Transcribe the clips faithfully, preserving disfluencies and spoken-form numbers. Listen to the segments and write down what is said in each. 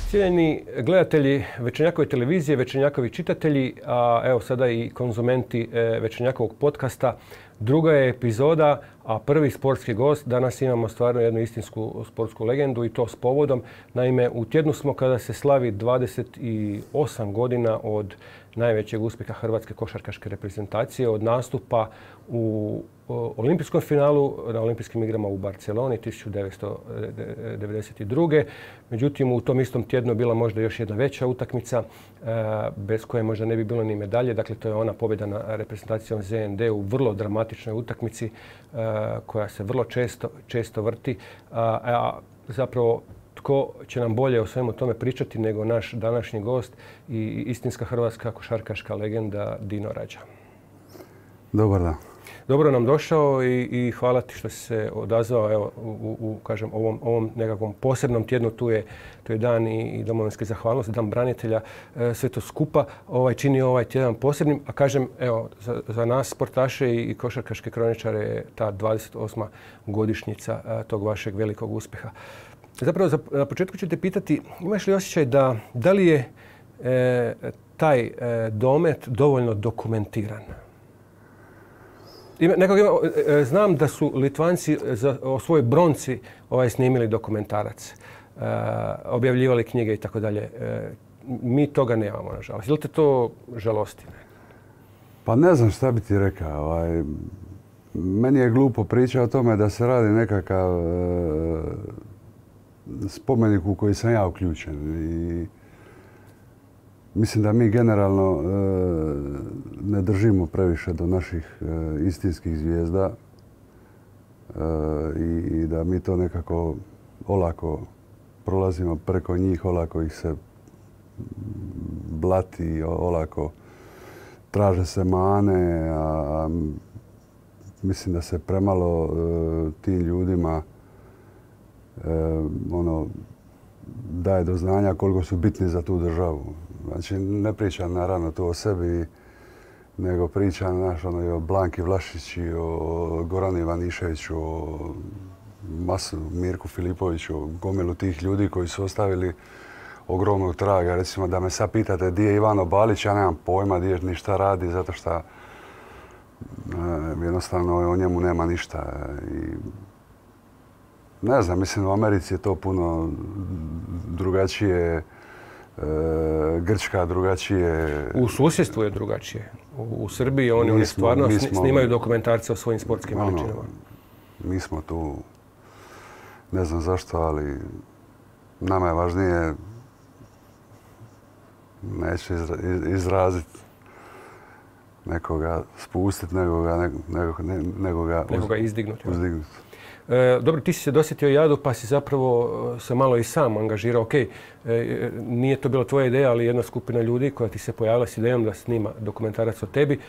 Cijenjeni gledatelji Večernjakove televizije, Večernjakovi čitatelji, a evo sada i konzumenti Večernjakovog podcasta. Druga je epizoda, a prvi sportski gost. Danas imamo stvarno jednu istinsku sportsku legendu i to s povodom. Naime, u tjednu smo kada se slavi dvadeset osam godina od najvećeg uspjeha hrvatske košarkaške reprezentacije, od nastupa u olimpijskom finalu na olimpijskim igrama u Barceloni tisuću devetsto devedeset druge. Međutim, u tom istom tjednu je bila možda još jedna veća utakmica bez koje možda ne bi bilo ni medalje. Dakle, to je ona pobjeda na reprezentacijom Z N D u vrlo dramatičnoj utakmici koja se vrlo često, često vrti. A zapravo, tko će nam bolje o svemu tome pričati nego naš današnji gost i istinska hrvatska košarkaška legenda Dino Rađa. Dobar dan. Dobro nam došao i, i hvala ti što si se odazvao evo, u, u kažem, ovom, ovom nekakvom posebnom tjednu. Tu je, tu je dan i, i domovinske zahvalnosti, dan branitelja. E, sve to skupa ovaj, čini ovaj tjedan posebnim. A kažem, evo, za, za nas sportaše i, i košarkaške kroničare je ta dvadeset osma godišnjica a, tog vašeg velikog uspjeha. Zapravo, za, na početku ću te pitati, imaš li osjećaj da, da li je e, taj e, domet dovoljno dokumentiran? Ima, nekog ima, e, znam da su Litvanci za, o svojoj bronci ovaj, snimili dokumentarac, e, objavljivali knjige i tako dalje. Mi toga nemamo, nažalost. Je li te to žalosti? Pa ne znam šta bi ti rekao. Ovaj, meni je glupo priča o tome da se radi nekakav e, spomenik u koji sam ja uključen. I mislim da mi generalno e, ne držimo previše do naših e, istinskih zvijezda e, i, i da mi to nekako olako prolazimo preko njih, olako ih se blati, olako traže se mane, a, a mislim da se premalo e, tim ljudima e, ono, daje do znanja koliko su bitni za tu državu. Znači, ne pričam naravno tu o sebi, nego pričam naš, ono, i o Blanki Vlašić, i o Goranu Ivaniševiću, o Masu, Mirku Filipoviću, o gomilu tih ljudi koji su ostavili ogromnog traga. Recimo, da me sad pitate gdje je Ivano Balić, ja nemam pojma gdje ni šta radi, zato što e, jednostavno o njemu nema ništa. I, ne znam, mislim, u Americi je to puno drugačije. E, Grčka drugačije. U susjedstvu je drugačije. U, u Srbiji oni, oni stvarno mi smo, snimaju dokumentarce o svojim sportskim ono, veličinama. Mi smo tu, ne znam zašto, ali nama je važnije, neću izra, izraziti, nekoga spustiti, nego ga, nego, nego, nego ga, nego ga izdignuti. uzdignuti. E, dobro, ti si se dosjetio jadu pa si zapravo se malo i sam angažirao. Ok, e, nije to bila tvoja ideja, ali jedna skupina ljudi koja ti se pojavila s idejom da snima dokumentarac o tebi.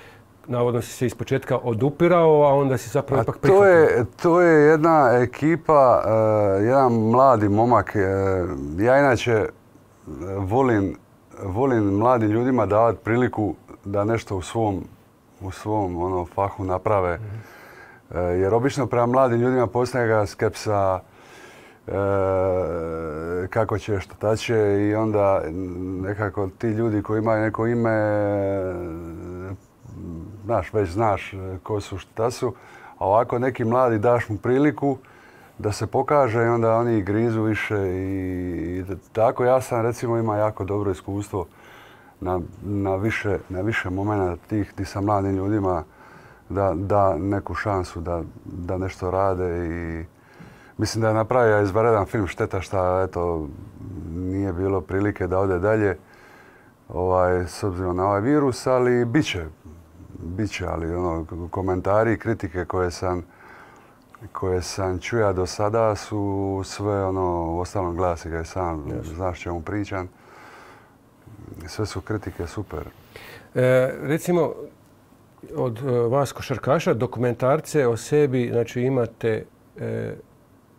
Navodno si se ispočetka odupirao, a onda si zapravo a ipak prihvatio. To je, to je jedna ekipa, uh, jedan mladi momak. Uh, ja inače volim, volim mladim ljudima davati priliku da nešto u svom, u svom ono, fahu naprave. Mm-hmm. Jer obično prema mladim ljudima postoje ga skepsa, e, kako će, šta će, i onda nekako ti ljudi koji imaju neko ime, znaš, već znaš ko su, šta su, a ovako neki mladi daš mu priliku da se pokaže i onda oni grizu više i, i tako. Ja sam recimo ima jako dobro iskustvo na, na više, na više momenta tih gdje sa mladim ljudima da, da neku šansu da, da nešto rade i mislim da je napravio izvanredan film. Šteta što eto, nije bilo prilike da ode dalje ovaj, s obzirom na ovaj virus, ali bit će. Bit će, ali ono, komentari i kritike koje sam, koje sam čuja do sada su sve ono, u ostalom glasi ga je sam, yes. Znaš čemu pričam. Sve su kritike super. E, recimo, od vas košarkaša dokumentarce o sebi, znači imate e,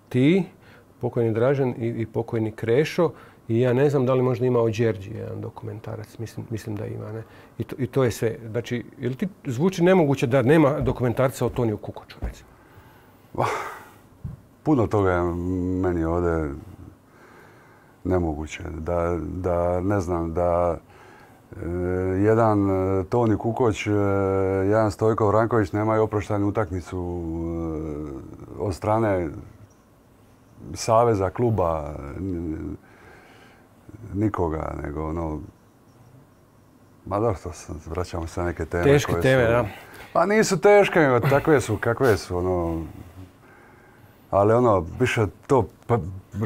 ti, pokojni Dražen i, i pokojni Krešo, i ja ne znam da li možda ima o Đerđi jedan dokumentarac, mislim, mislim da ima, ne? I to, i to je sve. Znači, je li ti zvuči nemoguće da nema dokumentarca o Toniju Kukoču, recimo? Puno toga je meni ovdje nemoguće. Da, da ne znam, da e, jedan Toni Kukoć, e, jedan Stojko Vranković nemaju oproštenu utakmicu e, od strane saveza, kluba, nikoga, nego ono... Ma dobro, to vraćamo se na neke teme. Teške teme, su, da. Pa nisu teške, nego takve su, kakve su, ono... Ali ono, više to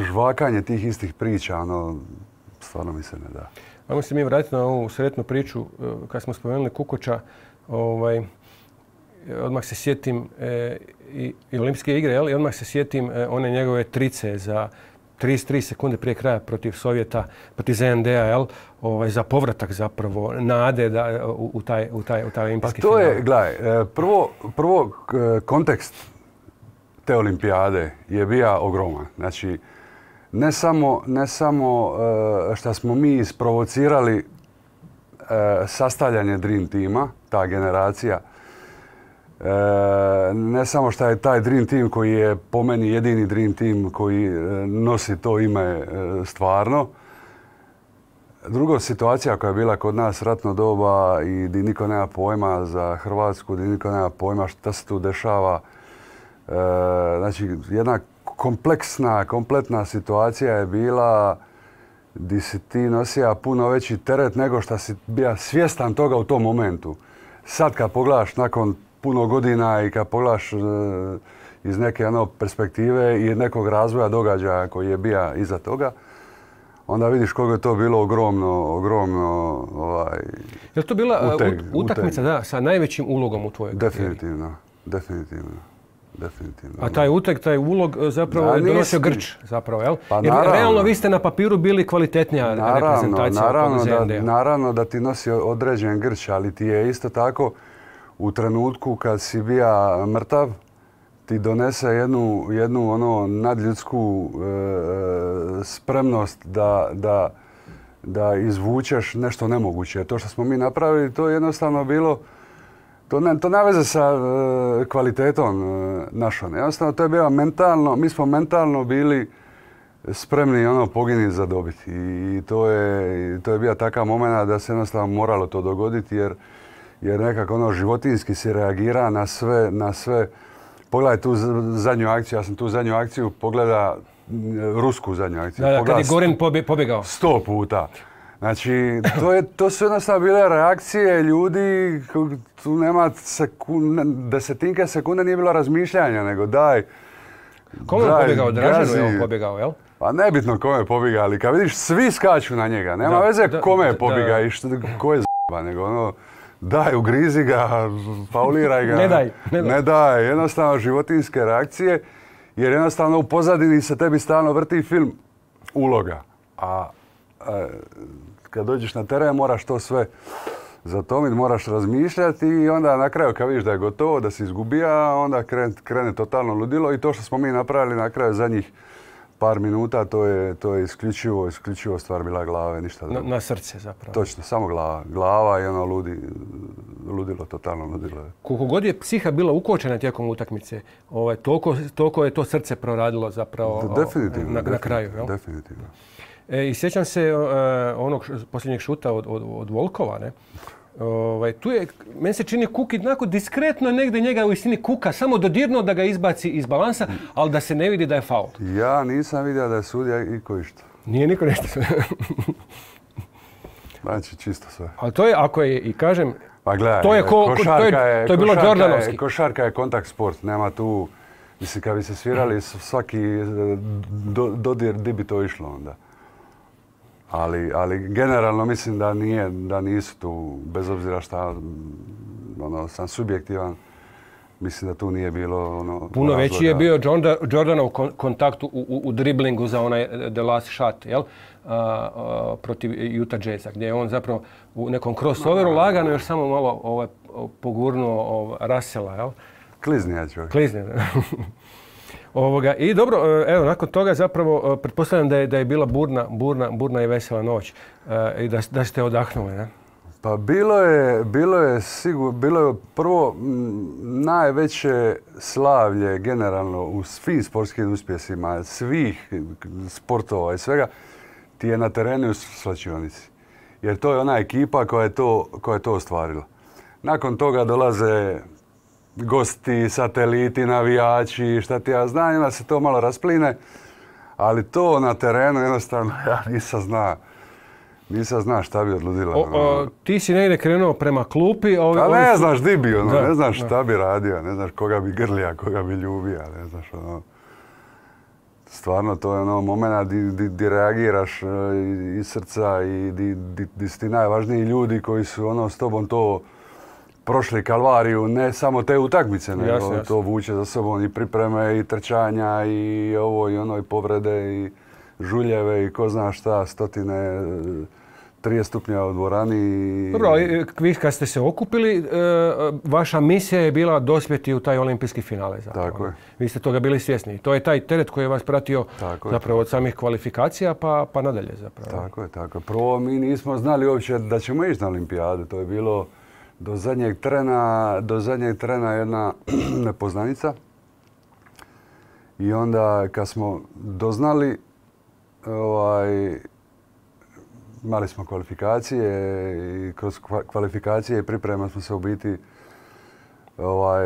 žvakanje tih istih priča, ono, stvarno mi se ne da. Ajmo se mi vratiti na ovu sretnu priču, kad smo spomenuli Kukoča, ovaj, odmah se sjetim e, i, i olimpijske igre, jel? I odmah se sjetim e, one njegove trice za trideset tri sekunde prije kraja protiv Sovjeta, protiv Z N D-a, jel? Ovaj, za povratak zapravo nade da, u, u taj, u taj, u taj olimpijski final. Pa to final. je, gledaj, prvo, prvo kontekst te olimpijade je bio ogroman. Znači, ne samo, ne samo što smo mi isprovocirali sastavljanje Dream Teama, ta generacija, ne samo što je taj Dream Team koji je po meni jedini Dream Team koji nosi to ime stvarno. Druga situacija koja je bila kod nas ratno doba i gdje niko nema pojma za Hrvatsku, gdje niko nema pojma šta se tu dešava. Znači, jedna kompleksna, kompletna situacija je bila gdje si ti nosija puno veći teret nego što si bio svjestan toga u tom momentu. Sad kad pogledaš nakon puno godina i kad pogledaš iz neke ono, perspektive i nekog razvoja događaja koji je bio iza toga, onda vidiš koliko je to bilo ogromno, ogromno ovaj, je li to bila uteg, utakmica da, sa najvećim ulogom u tvojoj karijeri? Definitivno, definitivno. Definitivno. A taj uteg, taj ulog zapravo je donosio Grč, zapravo, jel? Pa jer naravno, realno vi ste na papiru bili kvalitetnija naravno, reprezentacija naravno od da, Z N D-a. naravno da ti nosi određen Grč, ali ti je isto tako u trenutku kad si bija mrtav, ti donese jednu, jednu ono nadljudsku e, spremnost da, da, da izvučeš nešto nemoguće. To što smo mi napravili, to je jednostavno bilo To ne, to nema veze sa e, kvalitetom e, našom. Jednostavno, to je bilo mentalno, mi smo mentalno bili spremni ono poginiti za dobiti. I to je, to je bio takav moment da se jednostavno moralo to dogoditi jer, jer nekako ono životinjski se reagira na sve, na sve. Pogledaj tu zadnju akciju, ja sam tu zadnju akciju pogleda rusku zadnju akciju. Da, da, kad je Gorin pobjegao. Sto puta. Znači, to, je, to su jednostavno bile reakcije ljudi, tu nema sekunde, desetinke sekunde nije bilo razmišljanja, nego daj, Kome je pobjegao? Draženu je on pobjegao, jel? Pa nebitno kome je pobjegao, ali kad vidiš svi skaču na njega, nema da, veze da, kome je pobjegao i što, ko je z***ba, nego ono, daj, ugrizi ga, fauliraj ga. Ne daj, ne daj. Ne daj, jednostavno životinjske reakcije, jer jednostavno u pozadini se tebi stalno vrti film uloga. A, a kad dođeš na teren moraš to sve zatomiti, moraš razmišljati i onda na kraju kad vidiš da je gotovo, da si izgubija, onda krene, krene totalno ludilo i to što smo mi napravili na kraju zadnjih par minuta, to je, to je isključivo, isključivo stvar bila glave, ništa drugo. Na, na srce zapravo. Točno, samo glava. Glava i ono ludi, ludilo, totalno ludilo. Koliko god je psiha bila ukočena tijekom utakmice, ovaj, toliko, toliko je to srce proradilo zapravo definitivno, na, definitivno, na kraju. Jel? Definitivno. E, I sjećam se uh, onog posljednjeg šuta od, od, od Volkova, ne? Ovaj, tu je, meni se čini Kukić onako diskretno negdje njega u istini kuka, samo dodirnuo da ga izbaci iz balansa, ali da se ne vidi da je faul. Ja nisam vidio da je sudio iko išta. Nije niko nešto. Znači, čisto sve. Ali to je, ako je, i kažem, pa gledaj, to je, ko, to je, je, to je bilo Jordanovski. Košarka je kontakt sport, nema tu, mislim, kad bi se svirali svaki do, dodir, di bi to išlo onda. Ali, ali generalno mislim da, nije, da nisu tu, bez obzira šta ono, sam subjektivan, mislim da tu nije bilo ono... Puno razloga. Veći je bio Jordanov kontakt u, u, u driblingu za onaj the last shot, jel? A, a, protiv Utah Jazza, gdje je on zapravo u nekom crossoveru lagano još samo malo ovaj, pogurnuo ovaj, Russella, jel? Kliznija čovjek. Kliznija, Ovoga, I dobro, evo, nakon toga zapravo pretpostavljam da je, da je bila burna, burna, burna i vesela noć e, i da, da ste odahnuli, ne? Pa bilo je, bilo je sigurno, bilo je prvo m, najveće slavlje generalno u svim sportskim uspjesima, svih sportova i svega, ti je na terenu u svlačionici. Jer to je ona ekipa koja je to, koja je to ostvarila. Nakon toga dolaze gosti, sateliti, navijači, šta ti ja znam, onda se to malo raspline, ali to na terenu jednostavno ja nisam znao. Nisam zna šta bi odludila. O, o, ti si negdje krenuo prema klupi. A ovi, ne su... znaš di bi, ono, da, ne znaš da. šta bi radio, ne znaš koga bi grlija, koga bi ljubija, ne znaš ono. Stvarno to je ono momena di, di, di reagiraš iz srca i di, di, di su ti najvažniji ljudi koji su ono s tobom to prošli kalvariju, ne samo te utakmice, nego jasne, jasne. To vuče za sobom i pripreme i trčanja i ovo i ono i povrede i žuljeve i ko zna šta, stotine trideset stupnja u dvorani. Dobro, vi kad ste se okupili, vaša misija je bila dospjeti u taj olimpijski finale. Zapravo. Tako je. Vi ste toga bili svjesni. To je taj teret koji je vas pratio tako zapravo je. od samih kvalifikacija pa, pa nadalje. Zapravo. Tako je, tako je. Prvo mi nismo znali uopće da ćemo ići na olimpijadu. To je bilo do zadnjeg trena, do zadnjeg trena jedna nepoznanica. I onda kad smo doznali, ovaj, imali smo kvalifikacije i kroz kvalifikacije i priprema smo se u biti ovaj,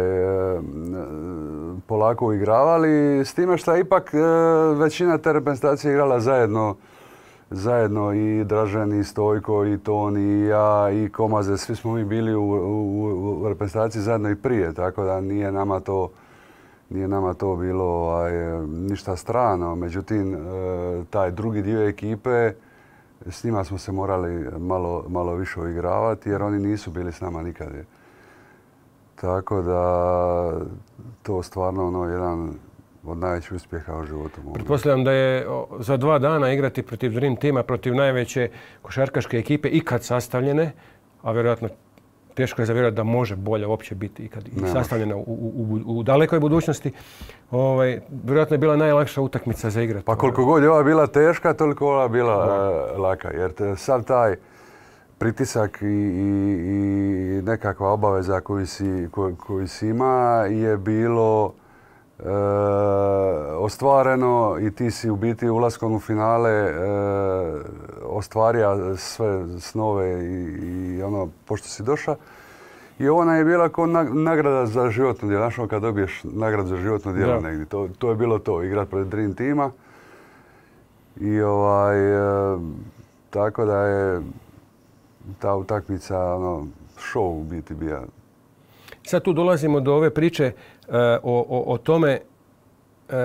polako igravali. S time što je ipak većina te reprezentacije igrala zajedno, zajedno i Dražen, i Stojko, i Toni, i ja, i Komaze. Svi smo mi bili u, u, u reprezentaciji zajedno i prije, tako da nije nama to, nije nama to bilo ovaj, ništa strano. Međutim, taj drugi dio ekipe, s njima smo se morali malo, malo više uigravati jer oni nisu bili s nama nikad. Tako da to stvarno ono jedan od najvećih uspjeha u životu. Pretpostavljam da je za dva dana igrati protiv Dream Teama, protiv najveće košarkaške ekipe ikad sastavljene, a vjerojatno teško je zavjerovati da može bolje uopće biti ikad i sastavljena u, u, u, u dalekoj budućnosti. Ovaj, vjerojatno je bila najlakša utakmica za igrati. Pa koliko god je ova bila teška, toliko ova bila uh, laka. Jer te, sav taj pritisak i, i, i nekakva obaveza koju si, koju, koju si ima je bilo e, ostvareno i ti si u biti ulaskom u finale e, ostvario sve snove i, i ono pošto si došao. I ona je bila kao nagrada za životno djelo. Znaš, kad dobiješ nagradu za životno djelo ja. negdje. To, to je bilo to, igrat protiv Dream Teama. I ovaj, e, tako da je ta utakmica, ono, show u biti bija. Sad tu dolazimo do ove priče uh, o, o, o tome uh,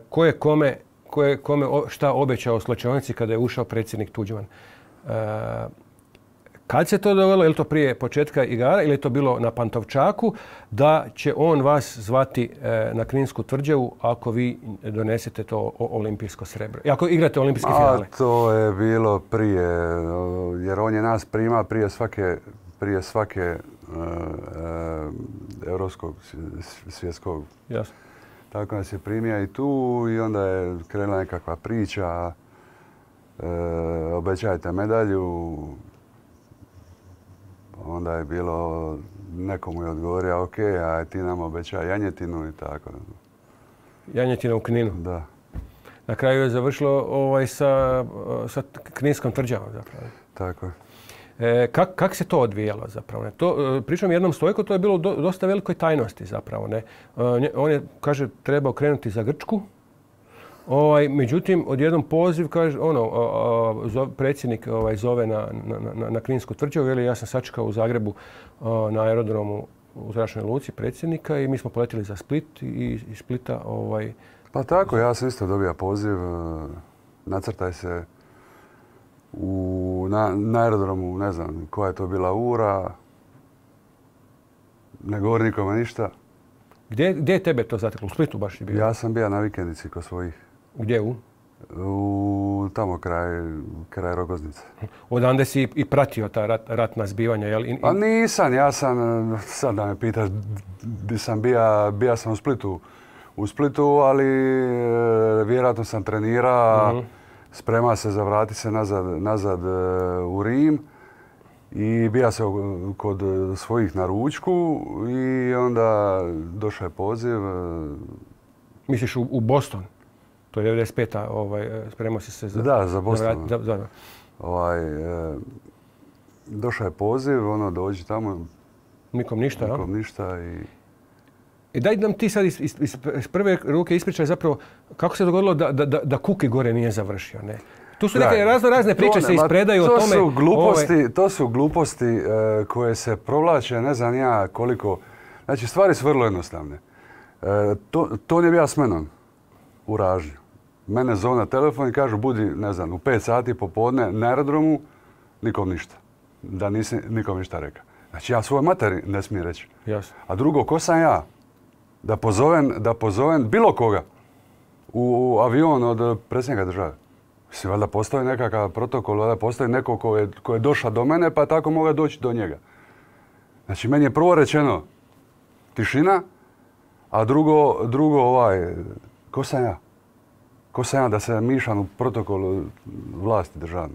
ko je kome, ko je kome šta obećao u slačionici kada je ušao predsjednik Tuđman. Uh, kad se to dogodilo, je li to prije početka igara ili je to bilo na Pantovčaku, da će on vas zvati uh, na Kninsku tvrđavu ako vi donesete to olimpijsko srebro? I ako igrate olimpijski finale? A to je bilo prije, jer on je nas prima prije svake, prije svake uh, uh, europskog svjetskog. Jasno. Tako nas je primio i tu i onda je krenula nekakva priča, uh, obećajte medalju. Onda je bilo, nekomu je odgovorio, ok, a ti nam obećaj janjetinu i tako. Janjetina u Kninu? Da. Na kraju je završilo ovaj, sa, sa Kninskom tvrđavom zapravo. Tako je. E, kak, kak se to odvijalo zapravo? Ne? To, pričam jednom Stojko, to je bilo do, dosta velikoj tajnosti zapravo. Ne? E, on je, kaže, trebao krenuti za Grčku. Ovaj, međutim, odjednom poziv, kaže, ono, a, a, zove, predsjednik ovaj, zove na, na, na, na Kninsku tvrđavu. Veli, ja sam sačekao u Zagrebu a, na aerodromu u zračnoj luci predsjednika i mi smo poletili za Split i iz Splita... Ovaj, pa tako, ja sam isto dobio poziv. Nacrtaj se u, na, na aerodromu, ne znam koja je to bila ura. Ne govori nikome ništa. Gdje, gdje je tebe to zateklo? U Splitu baš je bio? Ja sam bio na vikendici kod svojih. Gdje u? U tamo kraj, kraj Rogoznice. Odande si i pratio ta rat, ratna zbivanja, jel? I, pa nisam, ja sam, sad da me pitaš gdje sam bio, bio sam u Splitu. U Splitu, ali e, vjerojatno sam trenirao, mm-hmm. sprema se za vrati se nazad, nazad e, u Rim. I bija se kod svojih na ručku i onda došao je poziv. Misliš u, u Boston? To je devedeset peta. Ovaj, spremao si se za... Da, za Boston. Za, za, ovaj, e, došao je poziv, ono, dođi tamo. Nikom ništa, Nikom ja? ništa i... I daj nam ti sad iz, iz, iz prve ruke ispričaj zapravo kako se dogodilo da, da, da Kuki gore nije završio, ne? Tu su neke razno razne priče se ispredaju o tome. Su gluposti, ovaj... To su gluposti uh, koje se provlače, ne znam ja koliko... Znači, stvari su vrlo jednostavne. Uh, to, to nije bio s menom u Ražnju. Mene zove na telefon i kažu budi, ne znam, u pet sati popodne na aerodromu, nikom ništa. Da nisi nikom ništa rekao. Znači, ja svojoj materi ne smijem reći. Jasno. A drugo, ko sam ja? Da pozovem, da pozovem bilo koga u, u avion od predsjednika države. Mislim, valjda postoji nekakav protokol, valjda postoji neko ko je, ko je došao do mene, pa tako mogu doći do njega. Znači, meni je prvo rečeno tišina, a drugo, drugo ovaj, ko sam ja? Ko sam ja da se mišam u protokolu vlasti državne?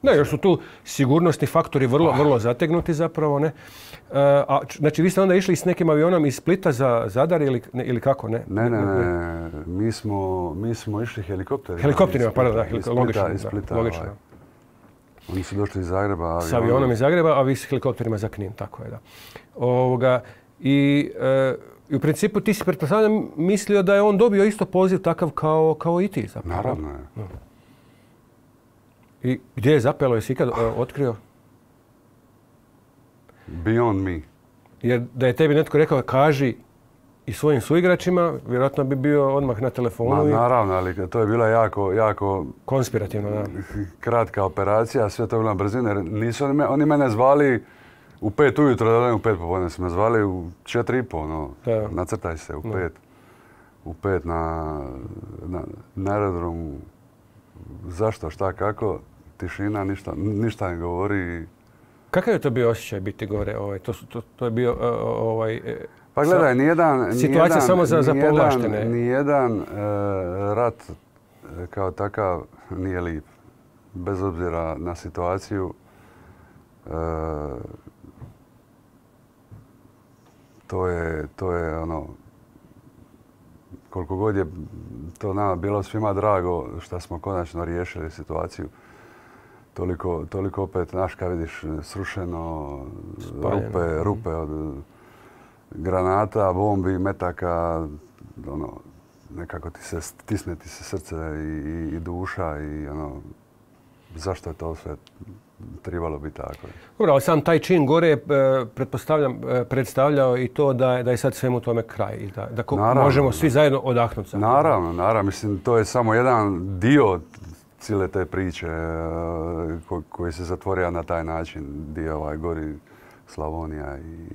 Ne, još su tu sigurnosni faktori vrlo, vrlo zategnuti zapravo, ne? A, znači, vi ste onda išli s nekim avionom iz Splita za Zadar ili, ne, ili kako, ne? Ne, ne, ne. ne. Mi, smo, mi smo išli helikopterima. Helikopterima, pardon, da, helik logično. Iz Splita, da, logično. Ovaj. Oni su došli iz Zagreba. Avionom. S avionom iz Zagreba, a vi s helikopterima za Knin, tako je, da. Ovoga, i, e, i u principu ti si pretpostavljam mislio da je on dobio isto poziv takav kao, kao i ti zapravo. Naravno je. No. I gdje je zapelo, jesi ikad otkrio? Beyond me. Jer da je tebi netko rekao kaži i svojim suigračima, vjerojatno bi bio odmah na telefonu. Ma, i... naravno, ali to je bila jako, jako... konspirativno, da. Kratka operacija, sve to je bila brzina. Nisu oni, me, oni mene zvali u pet ujutro, da ne u pet popodne. Su me zvali u četiri i po, no. Da. Nacrtaj se u pet. Da. U pet na, na, na aerodromu. Zašto, šta, kako? Tišina, ništa, ništa ne govori. Kakav je to bio osjećaj biti gore? Ovaj, to, to, to je bio ovaj... Pa gledaj, nijedan... Situacija nijedan, samo za, za povlaštene. Nijedan e, rat kao takav nije lijep. Bez obzira na situaciju. E, to je, to je ono... Koliko god je to nama bilo svima drago što smo konačno riješili situaciju. Toliko, toliko opet, znaš, kad vidiš srušeno, rupe, rupe od granata, bombi, metaka, ono, nekako ti se stisne ti se srce i, i, i duša i ono, zašto je to sve trebalo biti tako. Dobro, ali sam taj čin gore je, pretpostavljam, predstavljao i to da je, da je sad svemu tome kraj i da, da ko, naravno, možemo svi zajedno odahnuti. Naravno, naravno. Mislim, to je samo jedan dio cijele te priče ko, koji se zatvorio na taj način, gdje ovaj gori Slavonija i,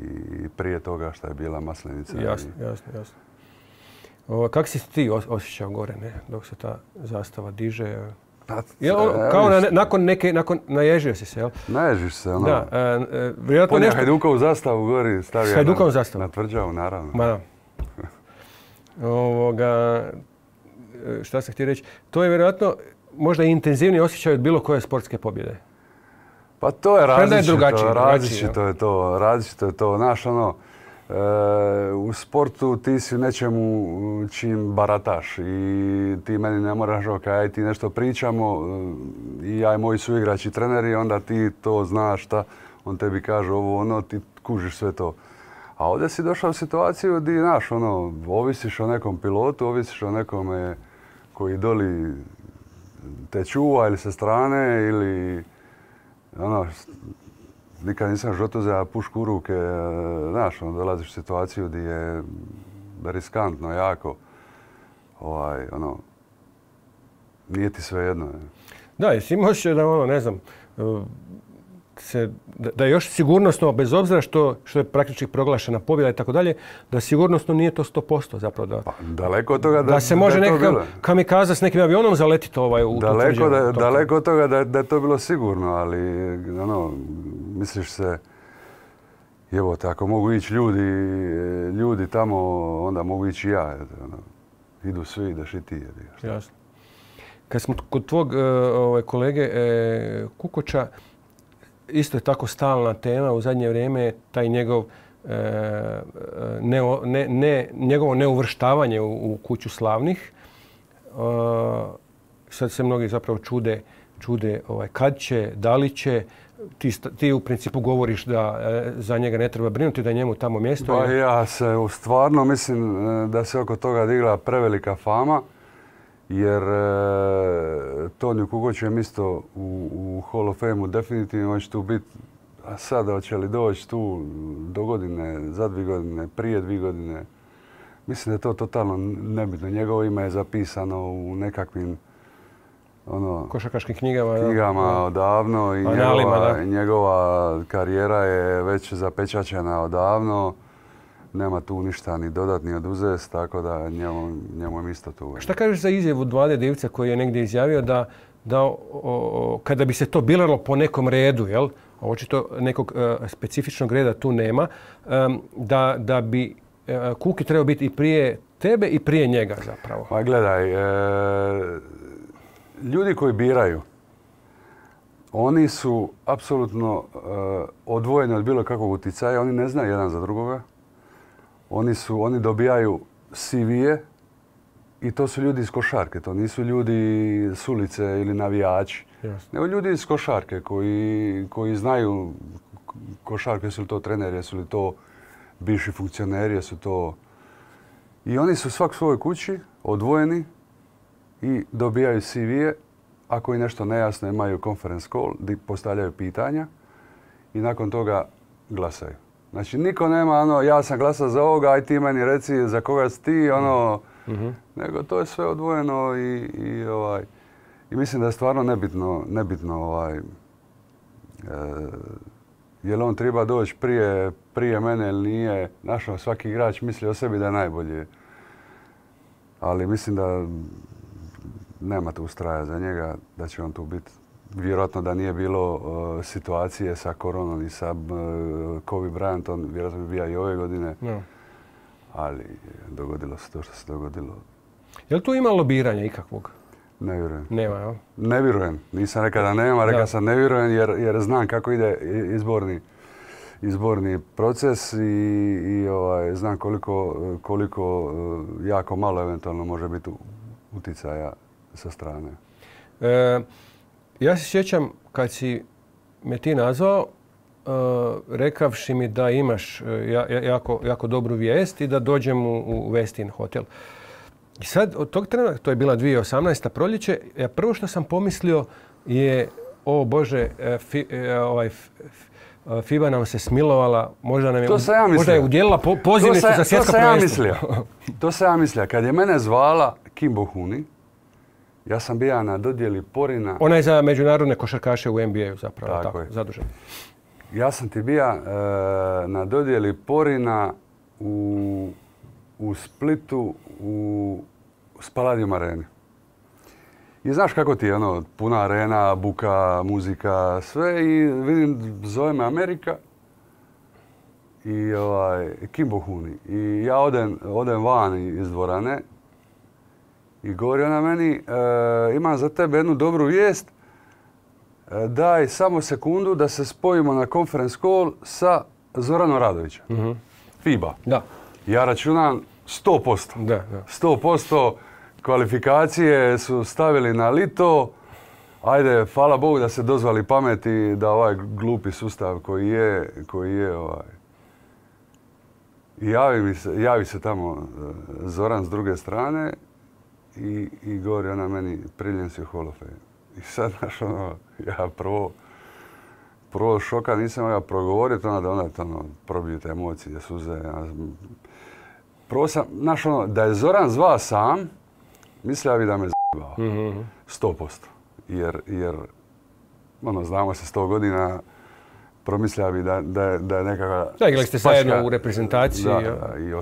i prije toga što je bila Maslenica. Jasno, i... jasno, jasno. O, kako si ti osjećao gore, ne? Dok se ta zastava diže? Pa, je ono, kao na, nakon neke, nakon, naježio si se, jel? Naježiš se, ono. Da, e, vjerojatno nešto... Hajdukovu zastavu gori stavio Hajdukovu zastavu. Na tvrđavu, naravno. Ma da. Ovoga, šta sam htio reći? To je vjerojatno možda intenzivniji osjećaj od bilo koje sportske pobjede. Pa to je različito, je drugačije, različito je to, različito je to. Znaš, ono, e, u sportu ti si nečemu čim barataš i ti meni ne moraš kaj ti nešto pričamo i ja i moji suigrači treneri, onda ti to znaš šta, on tebi kaže ovo, ono, ti kužiš sve to. A ovdje si došao u situaciju gdje, znaš, ono, ovisiš o nekom pilotu, ovisiš o nekome koji doli te čuva ili sa strane ili ono, nikad nisam u životu uzeo pušku u ruke, znaš, ono, dolaziš u situaciju gdje je riskantno, jako, ovaj, ono, nije ti sve jedno. Da, jesi imao osjećaj da, ono, ne znam, se, da, da je još sigurnosno, bez obzira što, što je praktički proglašena pobjeda i tako dalje, da sigurnosno nije to sto posto zapravo. Da, pa, daleko od toga da, da se može da nekakav kamikaza s nekim avionom zaletiti ovaj, u daleko, da, daleko od toga da, da je to bilo sigurno, ali ono, misliš se, evo, ako mogu ići ljudi, ljudi tamo, onda mogu ići i ja. Ono, idu svi, ideš i ti. Jasno. Kad smo kod tvog ovaj, kolege eh, Kukoča, isto je tako stalna tema u zadnje vrijeme, taj njegov e, ne, ne, ne, njegovo neuvrštavanje u, u kuću slavnih. E, sad se mnogi zapravo čude, čude ovaj, kad će, da li će. Ti, ti u principu govoriš da e, za njega ne treba brinuti, da je njemu tamo mjesto. Pa ja se stvarno mislim da se oko toga digla prevelika fama, jer e, Toniju Kukoću je mjesto u, u Hall of Fame-u definitivno, on će tu biti, a sad hoće li doći tu do godine, za dvije godine, prije dvije godine. Mislim da je to totalno nebitno. Njegovo ime je zapisano u nekakvim ono, košarkaškim knjigama, knjigama da, odavno i njegova, njegova karijera je već zapečaćena odavno. Nema tu ništa ni dodat ni oduzet, tako da njemu, njemu je isto tu. Šta kažeš za izjavu Vlade Divića koji je negdje izjavio da, da o, o, kada bi se to bilalo po nekom redu, jel? Očito nekog uh, specifičnog reda tu nema, um, da, da bi uh, Kuki trebao biti i prije tebe i prije njega zapravo? Pa gledaj, e, ljudi koji biraju, oni su apsolutno uh, odvojeni od bilo kakvog uticaja, oni ne znaju jedan za drugoga. Oni, su, oni dobijaju C V-e i to su ljudi iz košarke, to nisu ljudi s ulice ili navijači. Jasne. Nego ljudi iz košarke koji, koji znaju košarke, jesu li to treneri, jesu li to bivši funkcioneri, jesu to... I oni su svak svojoj kući odvojeni i dobijaju C V-e. Ako je nešto nejasno, imaju conference call gdje postavljaju pitanja i nakon toga glasaju. Znači, niko nema ono, ja sam glasao za ovoga, aj ti meni reci za koga si ti, ono, mm-hmm. nego to je sve odvojeno i, i, ovaj, i mislim da je stvarno nebitno, nebitno ovaj, e, je li on treba doći prije, prije mene ili nije. Našao, svaki igrač misli o sebi da je najbolji. Ali mislim da nema tu straja za njega, da će on tu biti. Vjerojatno da nije bilo uh, situacije sa koronom i sa uh, Kobe Bryantom, vjerojatno bi bio i ove godine. No. Ali dogodilo se to što se dogodilo. Je li tu ima lobiranja ikakvog? Ne vjerujem. Nema, jel? Ne vjerujem. Nisam rekao da nema, rekao sam ne vjerujem jer, jer znam kako ide izborni, izborni proces i, i ovaj, znam koliko, koliko uh, jako malo eventualno može biti uticaja sa strane. E, ja se sjećam kad si me ti nazvao, uh, rekavši mi da imaš uh, jako, jako dobru vijest i da dođem u, u Westin hotel. I sad od tog trena, to je bila dvije tisuće osamnaesta proljeće, ja prvo što sam pomislio je, o Bože, fi, ovaj, FIBA nam se smilovala, možda nam je, ja možda je udjelila po, pozivnicu za svjetsko prvenstvo. Ja to sam ja mislio. Kad je mene zvala Kim Bohuni, ja sam bio na dodjeli Porina. Ona je za međunarodne košarkaše u N B A-u zapravo, tako, tako je. Zadužen. Ja sam ti bio e, na dodjeli Porina u, u Splitu u Spaladium areni. I znaš kako ti je ono, puna arena, buka, muzika, sve i vidim, zove me Amerika i ovaj, Kim Bohuni. I ja odem, odem van iz dvorane i govori ona meni, e, imam za tebe jednu dobru vijest, e, daj samo sekundu da se spojimo na conference call sa Zoranom Radovićem. Mm-hmm. FIBA. Da. Ja računam sto posto. Da, da. sto posto kvalifikacije su stavili na lito. Ajde, hvala Bogu da se dozvali pameti da ovaj glupi sustav koji je, koji je ovaj, javi, mi se, javi se tamo Zoran s druge strane i, i govori ona meni, priljen si u Hall of Fame. I sad, znaš, ono, ja prvo, prvo šoka nisam mogao progovoriti, onda da onda ono, probiju te emocije, suze. Prvo sam, znaš, ono, da je Zoran zvao sam, mislio bi da me z***bao. Mm-hmm. sto posto. Jer, jer ono, znamo se sto godina, promislio bi da, da, je, da je nekakva... Da, igrali ste zajedno u reprezentaciji. Da, da, i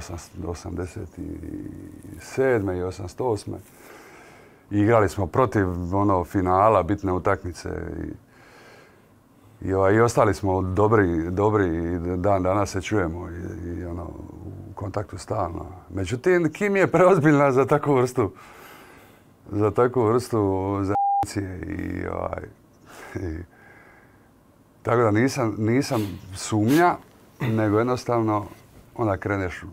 osamdeset sedme i osamdeset osme I igrali smo protiv ono, finala, bitne utakmice. I, i, ovaj, i ostali smo dobri, dobri i dan danas se čujemo i, i ono, u kontaktu stalno. Međutim, Kim je preozbiljna za takvu vrstu, za takvu vrstu zajednice i, ovaj, i Tako da nisam, nisam sumnja, nego jednostavno onda kreneš u,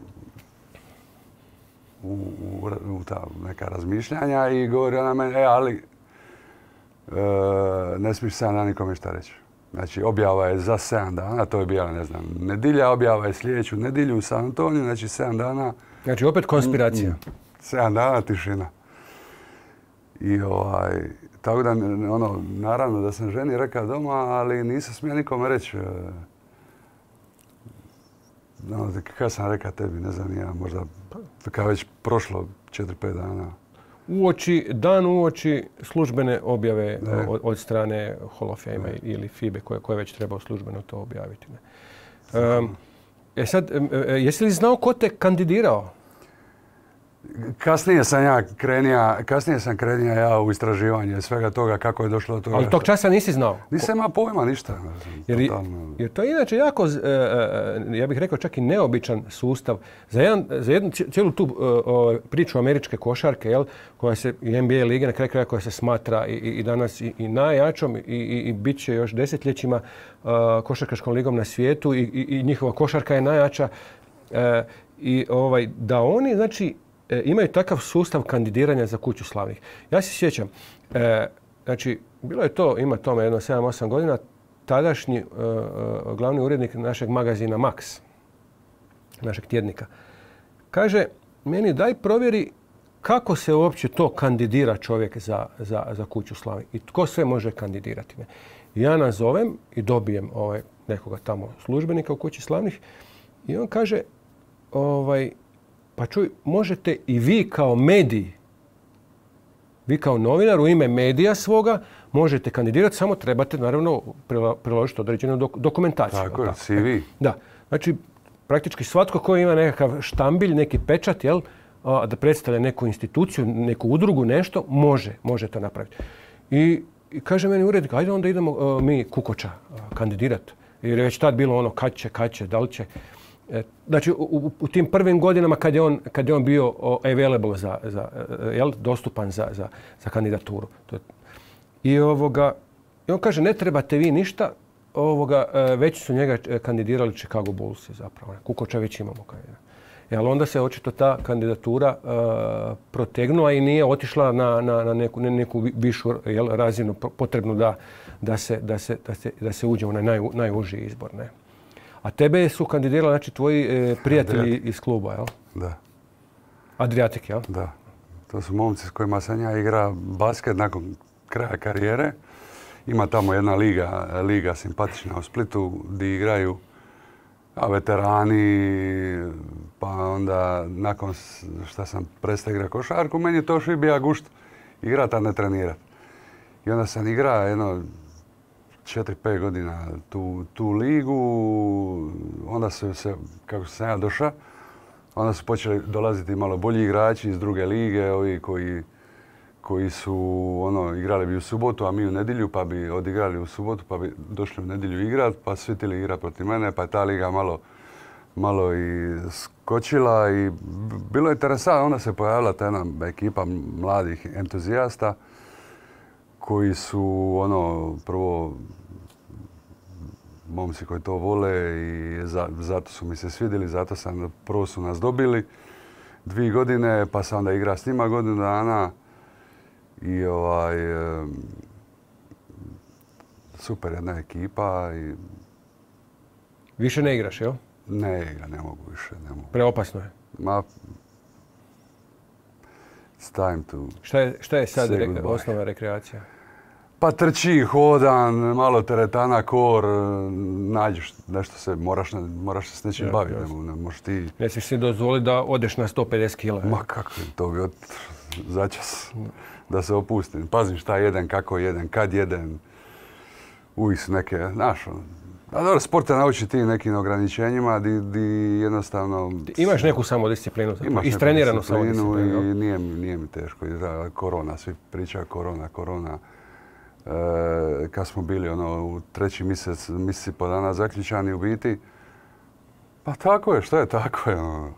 u, u ta neka razmišljanja i govori ona meni, e, ali e, ne smiješ sedam dana nikome šta reći. Znači, objava je za sedam dana, to je bila, ne znam, nedilja, objava je sljedeću nedilju u San Antoniju, znači sedam dana. Znači, opet konspiracija. sedam dana tišina. I ovaj, tako da, ono, naravno da sam ženi rekao doma, ali nisam smio nikome reći. No, kada sam rekao tebi, ne znam, ja možda kada već prošlo četiri pet dana. Uoči, dan uoči službene objave od, od strane Hall of Fame ili F I B E koje, koje već trebao službeno to objaviti. Ne? Um, e sad, jesi li znao ko te kandidirao? Kasnije sam ja krenija, kasnije sam krenija ja u istraživanje svega toga kako je došlo do toga. Ali tog časa nisi znao? Nisam imao pojma ništa. Jer, jer to je inače jako, ja bih rekao čak i neobičan sustav. Za, jedan, za jednu cijelu tu priču američke košarke, jel, koja se, i N B A lige na kraju kraja koja se smatra i, i danas i, i najjačom i, i, i bit će još desetljećima uh, košarkaškom ligom na svijetu i, i, i njihova košarka je najjača. Uh, I ovaj, da oni, znači, imaju takav sustav kandidiranja za Kuću slavnih. Ja se sjećam, e, znači, bilo je to, ima tome jedno sedam osam godina, tadašnji e, glavni urednik našeg magazina Max, našeg tjednika, kaže, meni daj provjeri kako se uopće to kandidira čovjek za, za, za Kuću slavnih i tko sve može kandidirati. Ja nazovem i dobijem ovaj, nekoga tamo službenika u Kući slavnih i on kaže, ovaj, pa čuj, možete i vi kao mediji, vi kao novinar u ime medija svoga, možete kandidirati, samo trebate naravno priložiti određenu dok- dokumentaciju. Tako je, C V. Da, znači praktički svatko ko ima nekakav štambilj, neki pečat, jel, da predstavlja neku instituciju, neku udrugu, nešto, može, može to napraviti. I, i kaže meni urednik, ajde onda idemo uh, mi Kukoča uh, kandidirati. Jer je već tad bilo ono kad će, kad će, da li će. Znači, u, u tim prvim godinama kad je on, kad je on bio available, za, za, jel, dostupan za, za, za kandidaturu. I, ovoga, I on kaže, ne trebate vi ništa, ovoga, već su njega kandidirali Chicago Bulls zapravo. Kukoča već imamo kandidata. Ali onda se očito ta kandidatura uh, protegnula i nije otišla na, na, na neku, neku višu, jel, razinu potrebnu da, da, se, da, se, da, se, da se uđe u naj, najuži izbor. Ne? A tebe su kandidirali, znači, tvoji e, prijatelji Adriatic. Iz kluba, jel? Da. Adriatic, jel? Da. To su momci s kojima sam ja igra basket nakon kraja karijere. Ima tamo jedna liga, liga simpatična u Splitu gdje igraju a, veterani, pa onda nakon što sam prestao igrati košarku, meni je to što bija gušt igrat, a ne trenirat. I onda sam igrao jedno četiri pet godina tu, tu ligu, onda su se, kako sam ja došao, onda su počeli dolaziti malo bolji igrači iz druge lige, ovi koji, koji su ono, igrali bi u subotu, a mi u nedjelju, pa bi odigrali u subotu, pa bi došli u nedjelju igrat, pa svi tili igrat protiv mene, pa je ta liga malo, malo i skočila i bilo je interesantno. Onda se pojavila ta jedna ekipa mladih entuzijasta koji su ono prvo momci koji to vole i za, zato su mi se svidjeli, zato sam, prvo su nas dobili dvije godine, pa sam onda igrao s njima godinu dana i ovaj, super jedna ekipa. I više ne igraš, jel? Ne igra, ne mogu više, ne mogu. Preopasno je. Ma, it's time to šta je, šta je sad re, osnovna rekreacija? Pa trči, hodan, malo teretana, kor, nađeš nešto se, moraš, moraš se s nečim ja, baviti. Ne, ne možeš ti... Ne smiješ si dozvoliti da odeš na sto pedeset kila. Ma kako, to bi od začas da se opustim. Pazim šta jedem, kako jedem, kad jedem. Uvijek su neke, znaš, a dobro, sport te nauči ti nekim ograničenjima di, di jednostavno... Imaš neku samodisciplinu, istreniranu samodisciplinu. I nije, nije mi teško. Korona, svi pričaju korona, korona. E, kad smo bili ono, u treći mjesec, mjesec i po dana zaključani u biti, pa tako je, što je tako je. Ono.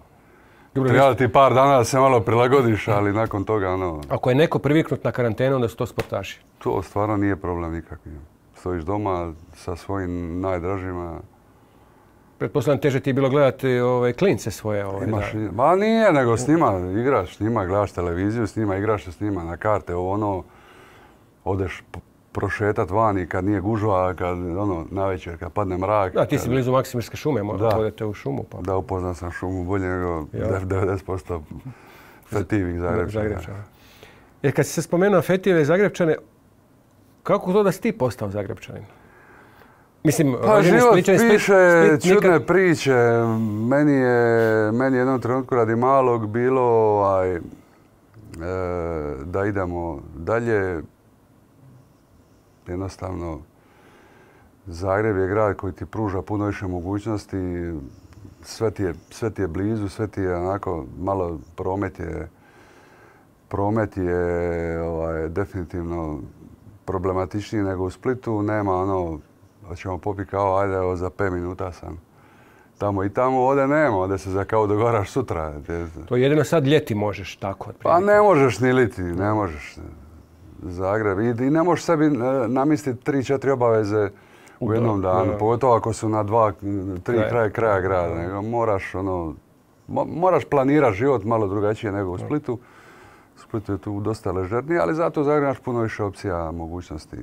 Treba ti par dana da se malo prilagodiš, ali nakon toga... Ono, ako je neko priviknut na karantenu, onda su to sportaši. To stvarno nije problem nikakvi. stojiš doma sa svojim najdražima. Pretpostavljam teže ti je bilo gledati ove klince svoje. Ove, Imaš, da. Ma nije, nego s njima igraš, s njima gledaš televiziju, s njima igraš s njima na karte, ovo ono, odeš prošetat vani kad nije gužva, kad ono, navečer, kad padne mrak. Da, ti si kad... blizu Maksimirske šume, možda odete u šumu. Pa. Da, upoznam sam šumu bolje nego devedeset posto fetivih Zagrepčana. Zagrepčana. Jer kad si se spomenuo Fetijeve Zagrepčane, kako to da si ti postao Zagrepčanin? Mislim, pa život Spličani, piše Split, čudne nikad... priče. Meni je, meni je jednom trenutku radi malog bilo ovaj, e, da idemo dalje. Jednostavno, Zagreb je grad koji ti pruža puno više mogućnosti. Sve ti je, sve ti je blizu, sve ti je onako, malo promet je, promet je ovaj, definitivno problematičniji nego u Splitu. Nema ono, hoćemo popiti kao, ajde, evo, za pet minuta sam tamo i tamo. Ovdje nema, ovdje se za kao dogovaraš sutra. To jedino sad ljeti možeš tako. Pa ne možeš ni liti, ne možeš. Zagreb. I, i ne možeš sebi namisliti tri, četiri obaveze u jednom danu. Pogotovo ako su na dva, tri kraja kraja grada. Nego moraš, ono, mo, moraš planirati život malo drugačije nego u Splitu. U Splitu je tu dosta ležernije, ali zato u Zagrebu imaš puno više opcija, mogućnosti.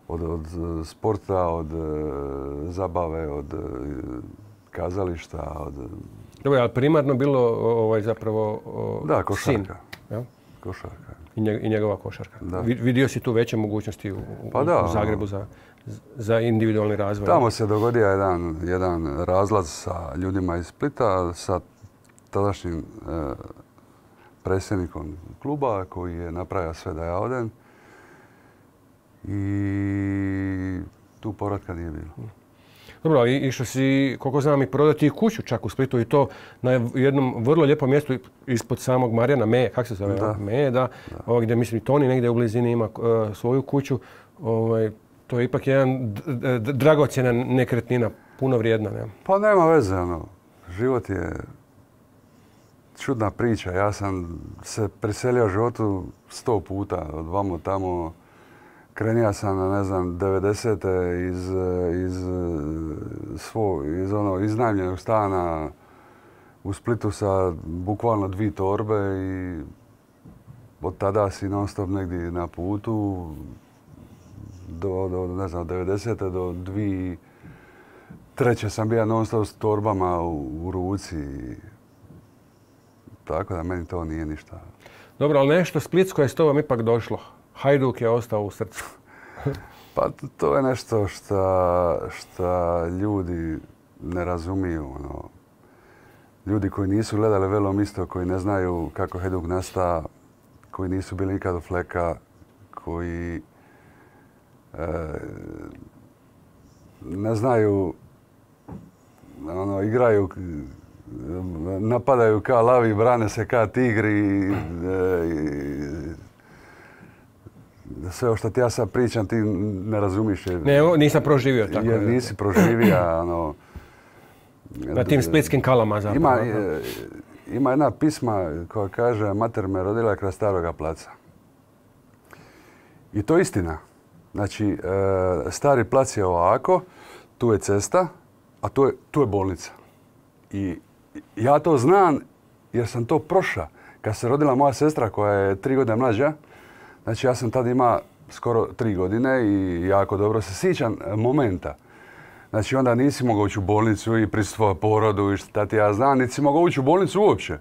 Od, od sporta, od zabave, od kazališta, od... Dobro, ali primarno bilo ovaj, zapravo o, da, košarka. sin. Ja? Košarka. I njegova košarka. Da. Vidio si tu veće mogućnosti u, pa da, u Zagrebu za, za individualni razvoj? Tamo se dogodio jedan, jedan razlaz sa ljudima iz Splita, sa tadašnjim e, predsjednikom kluba koji je napravio sve da ja odem. I tu povratka nije bilo. Dobro, išao si, koliko znam, i prodati i kuću čak u Splitu i to na jednom vrlo lijepom mjestu ispod samog Marjana, Meje, kako se zove? Da. Meje, da. da. Ovo gdje, mislim, Toni negdje u blizini ima uh, svoju kuću. Ovaj, to je ipak jedan dragocjena nekretnina, puno vrijedna. Ne? Pa nema veze, ono. Život je čudna priča. Ja sam se priselio životu sto puta, od vamo tamo. Krenija sam, ne znam, devedesete iz, iz, svo, iz ono, iznajmljenog stana u Splitu sa bukvalno dvije torbe i od tada si non stop negdje na putu do, do ne znam, devedesete do dvije treće sam bio non stop s torbama u, u ruci. Tako da meni to nije ništa. Dobro, ali nešto splitsko je s tobom ipak došlo. Hajduk je ostao u srcu. Pa to je nešto što ljudi ne razumiju. Ono. Ljudi koji nisu gledali Velom isto, koji ne znaju kako Hajduk nasta, koji nisu bili nikad u Fleka, koji e, ne znaju, ono, igraju, napadaju kao lavi, brane se kao tigri. E, sve o što ti ja sad pričam, ti ne razumiš. Jer, ne, nisam proživio tako. Jer nisi proživio, ono... Na tim splitskim kalama zapravo. Ima, ima jedna pisma koja kaže mater me rodila kraj Staroga placa. I to je istina. Znači, Stari plac je ovako, tu je cesta, a tu je, tu je bolnica. I ja to znam jer sam to prošao. Kad se rodila moja sestra koja je tri godine mlađa, znači ja sam tad ima skoro tri godine i jako dobro se sjećam momenta. Znači onda nisi mogao ući u bolnicu i prisustvovati porodu i šta ti ja znam, nisi mogao ući u bolnicu uopće.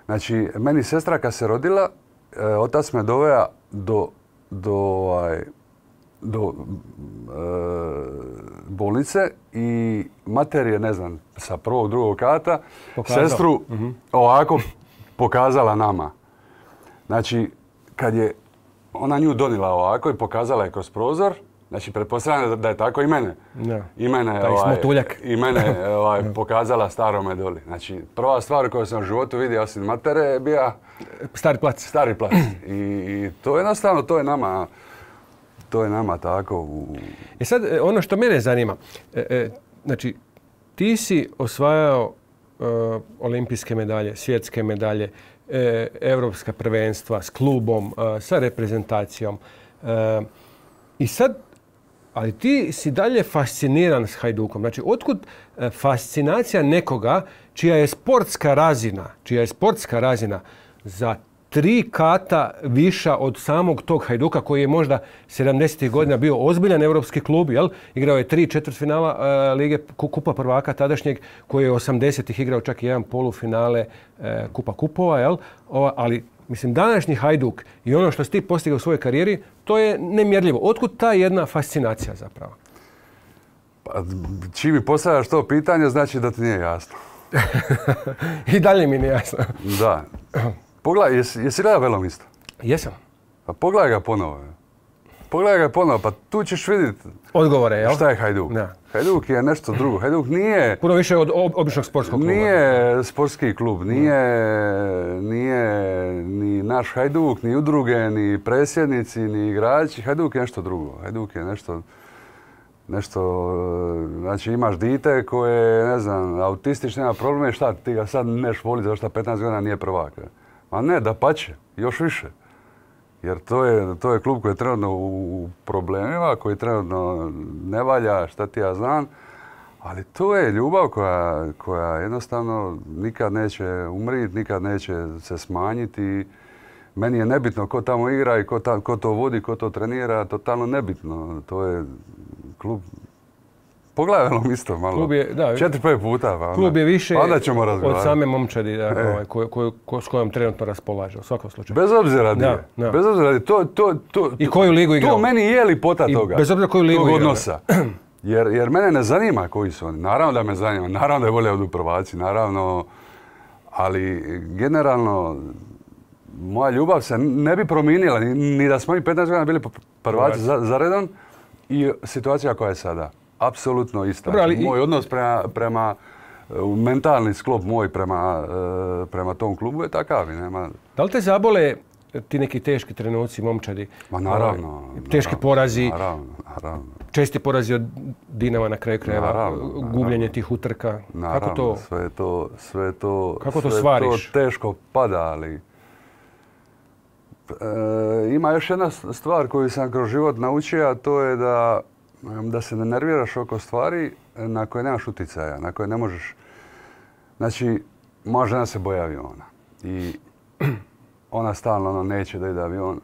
Znači meni sestra kad se rodila, e, otac me doveo do, do, ovaj, do e, bolnice i mater je, ne znam, sa prvog, drugog kata Pokazao. sestru uh-huh. ovako pokazala nama. Znači kad je ona nju donila ovako i pokazala je kroz prozor. Znači, pretpostavljam da je tako i mene. Ja. I mene, ovaj, i mene ovaj, pokazala starome doli. Znači, prva stvar koju sam u životu vidio osim matere je bio... Stari plac. Stari plac. I, i to je jednostavno, to je nama, to je nama tako. U... I sad, ono što mene zanima, e, e, znači, ti si osvajao e, olimpijske medalje, svjetske medalje, e, evropska prvenstva s klubom, e, sa reprezentacijom. E, I sad Ali ti si dalje fasciniran s Hajdukom. Znači, otkud fascinacija nekoga čija je sportska razina, čija je sportska razina za tri kata viša od samog tog Hajduka koji je možda sedamdesetih godina bio ozbiljan europski klub, jel? Igrao je tri četvrtfinala uh, Lige Kupa prvaka tadašnjeg, koji je osamdesetih igrao čak i jedan polufinale uh, Kupa kupova, jel? O, ali mislim, današnji Hajduk i ono što si ti postigao u svojoj karijeri, to je nemjerljivo. Otkud ta jedna fascinacija zapravo? Pa, čim mi postavljaš to pitanje, znači da ti nije jasno. I dalje mi nije jasno. Da. Pogledaj, jesi, jesi gledao Velomista? Jesam. Pa pogledaj ga ponovo. Pogledaj ga ponovo, pa tu ćeš vidjeti odgovore, jel? Šta je Hajduk. Da. Hajduk je nešto drugo. Hajduk nije... Puno više od običnog sportskog kluba. Nije sportski klub, nije, nije ni naš Hajduk, ni udruge, ni predsjednici, ni igrači. Hajduk je nešto drugo. Hajduk je nešto... Nešto, znači imaš dite koje, ne znam, autistično, nema probleme, šta ti ga sad neš voliti zato što petnaest godina nije prvak. Ma ne, dapače, još više. Jer to je, to je klub koji je trenutno u problemima, koji trenutno ne valja, šta ti ja znam. Ali to je ljubav koja, koja jednostavno nikad neće umriti, nikad neće se smanjiti. Meni je nebitno ko tamo igra i ko, ta, ko to vodi, ko to trenira, totalno nebitno. To je klub... Pogledaj ono isto malo. Klub je, da, četiri, pet puta. Pa onda, klub je više pa onda ćemo od same momčadi da, e. ovaj, ko, ko, ko, s kojom trenutno raspolaže, u svakom slučaju. Bez obzira di je. Da. Bez obzira di. To, to, to, I koju ligu igrao. To meni je lipota toga. I bez obzira koju ligu tog igrao. Odnosa. Jer, jer mene ne zanima koji su oni. Naravno da me zanima. Naravno da je bolje od prvaci. Naravno. Ali generalno moja ljubav se ne bi promijenila. Ni, ni da smo mi petnaest godina bili prvaci za, za redom. I situacija koja je sada. Apsolutno ista. Dobro, ali moj i... odnos prema, prema mentalni sklop moj prema, prema tom klubu je takav. Nema... Da li te zabole ti neki teški trenuci momčadi? Ma naravno. Teški naravno, porazi. Naravno, naravno. Česti porazi od Dinama na kraju krajeva. Gubljenje tih utrka. Naravno, kako to, sve to, sve to, kako to sve svariš? To teško pada, ali... E, ima još jedna stvar koju sam kroz život naučio, a to je da, da se ne nerviraš oko stvari na koje nemaš uticaja, na koje ne možeš... Znači, moja žena se boji aviona i ona stalno ono, neće da ide avion.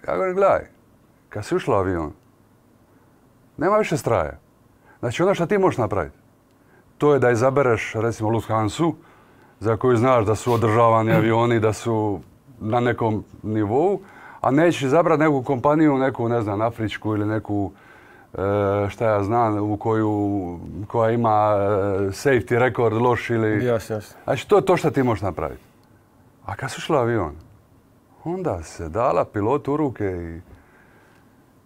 Ja govorim, gledaj, kad si ušla u avion, nema više straja. Znači, ono što ti možeš napraviti, to je da izabereš, recimo, Lufthansu, za koju znaš da su održavani avioni, da su na nekom nivou, a nećeš izabrati neku kompaniju, neku, ne znam, afričku ili neku, e, šta ja znam, u koju, koja ima e, safety rekord loš ili... Jasno, jasno. Znači, to je to što ti možeš napraviti. A kad su šla avion, onda se dala pilotu u ruke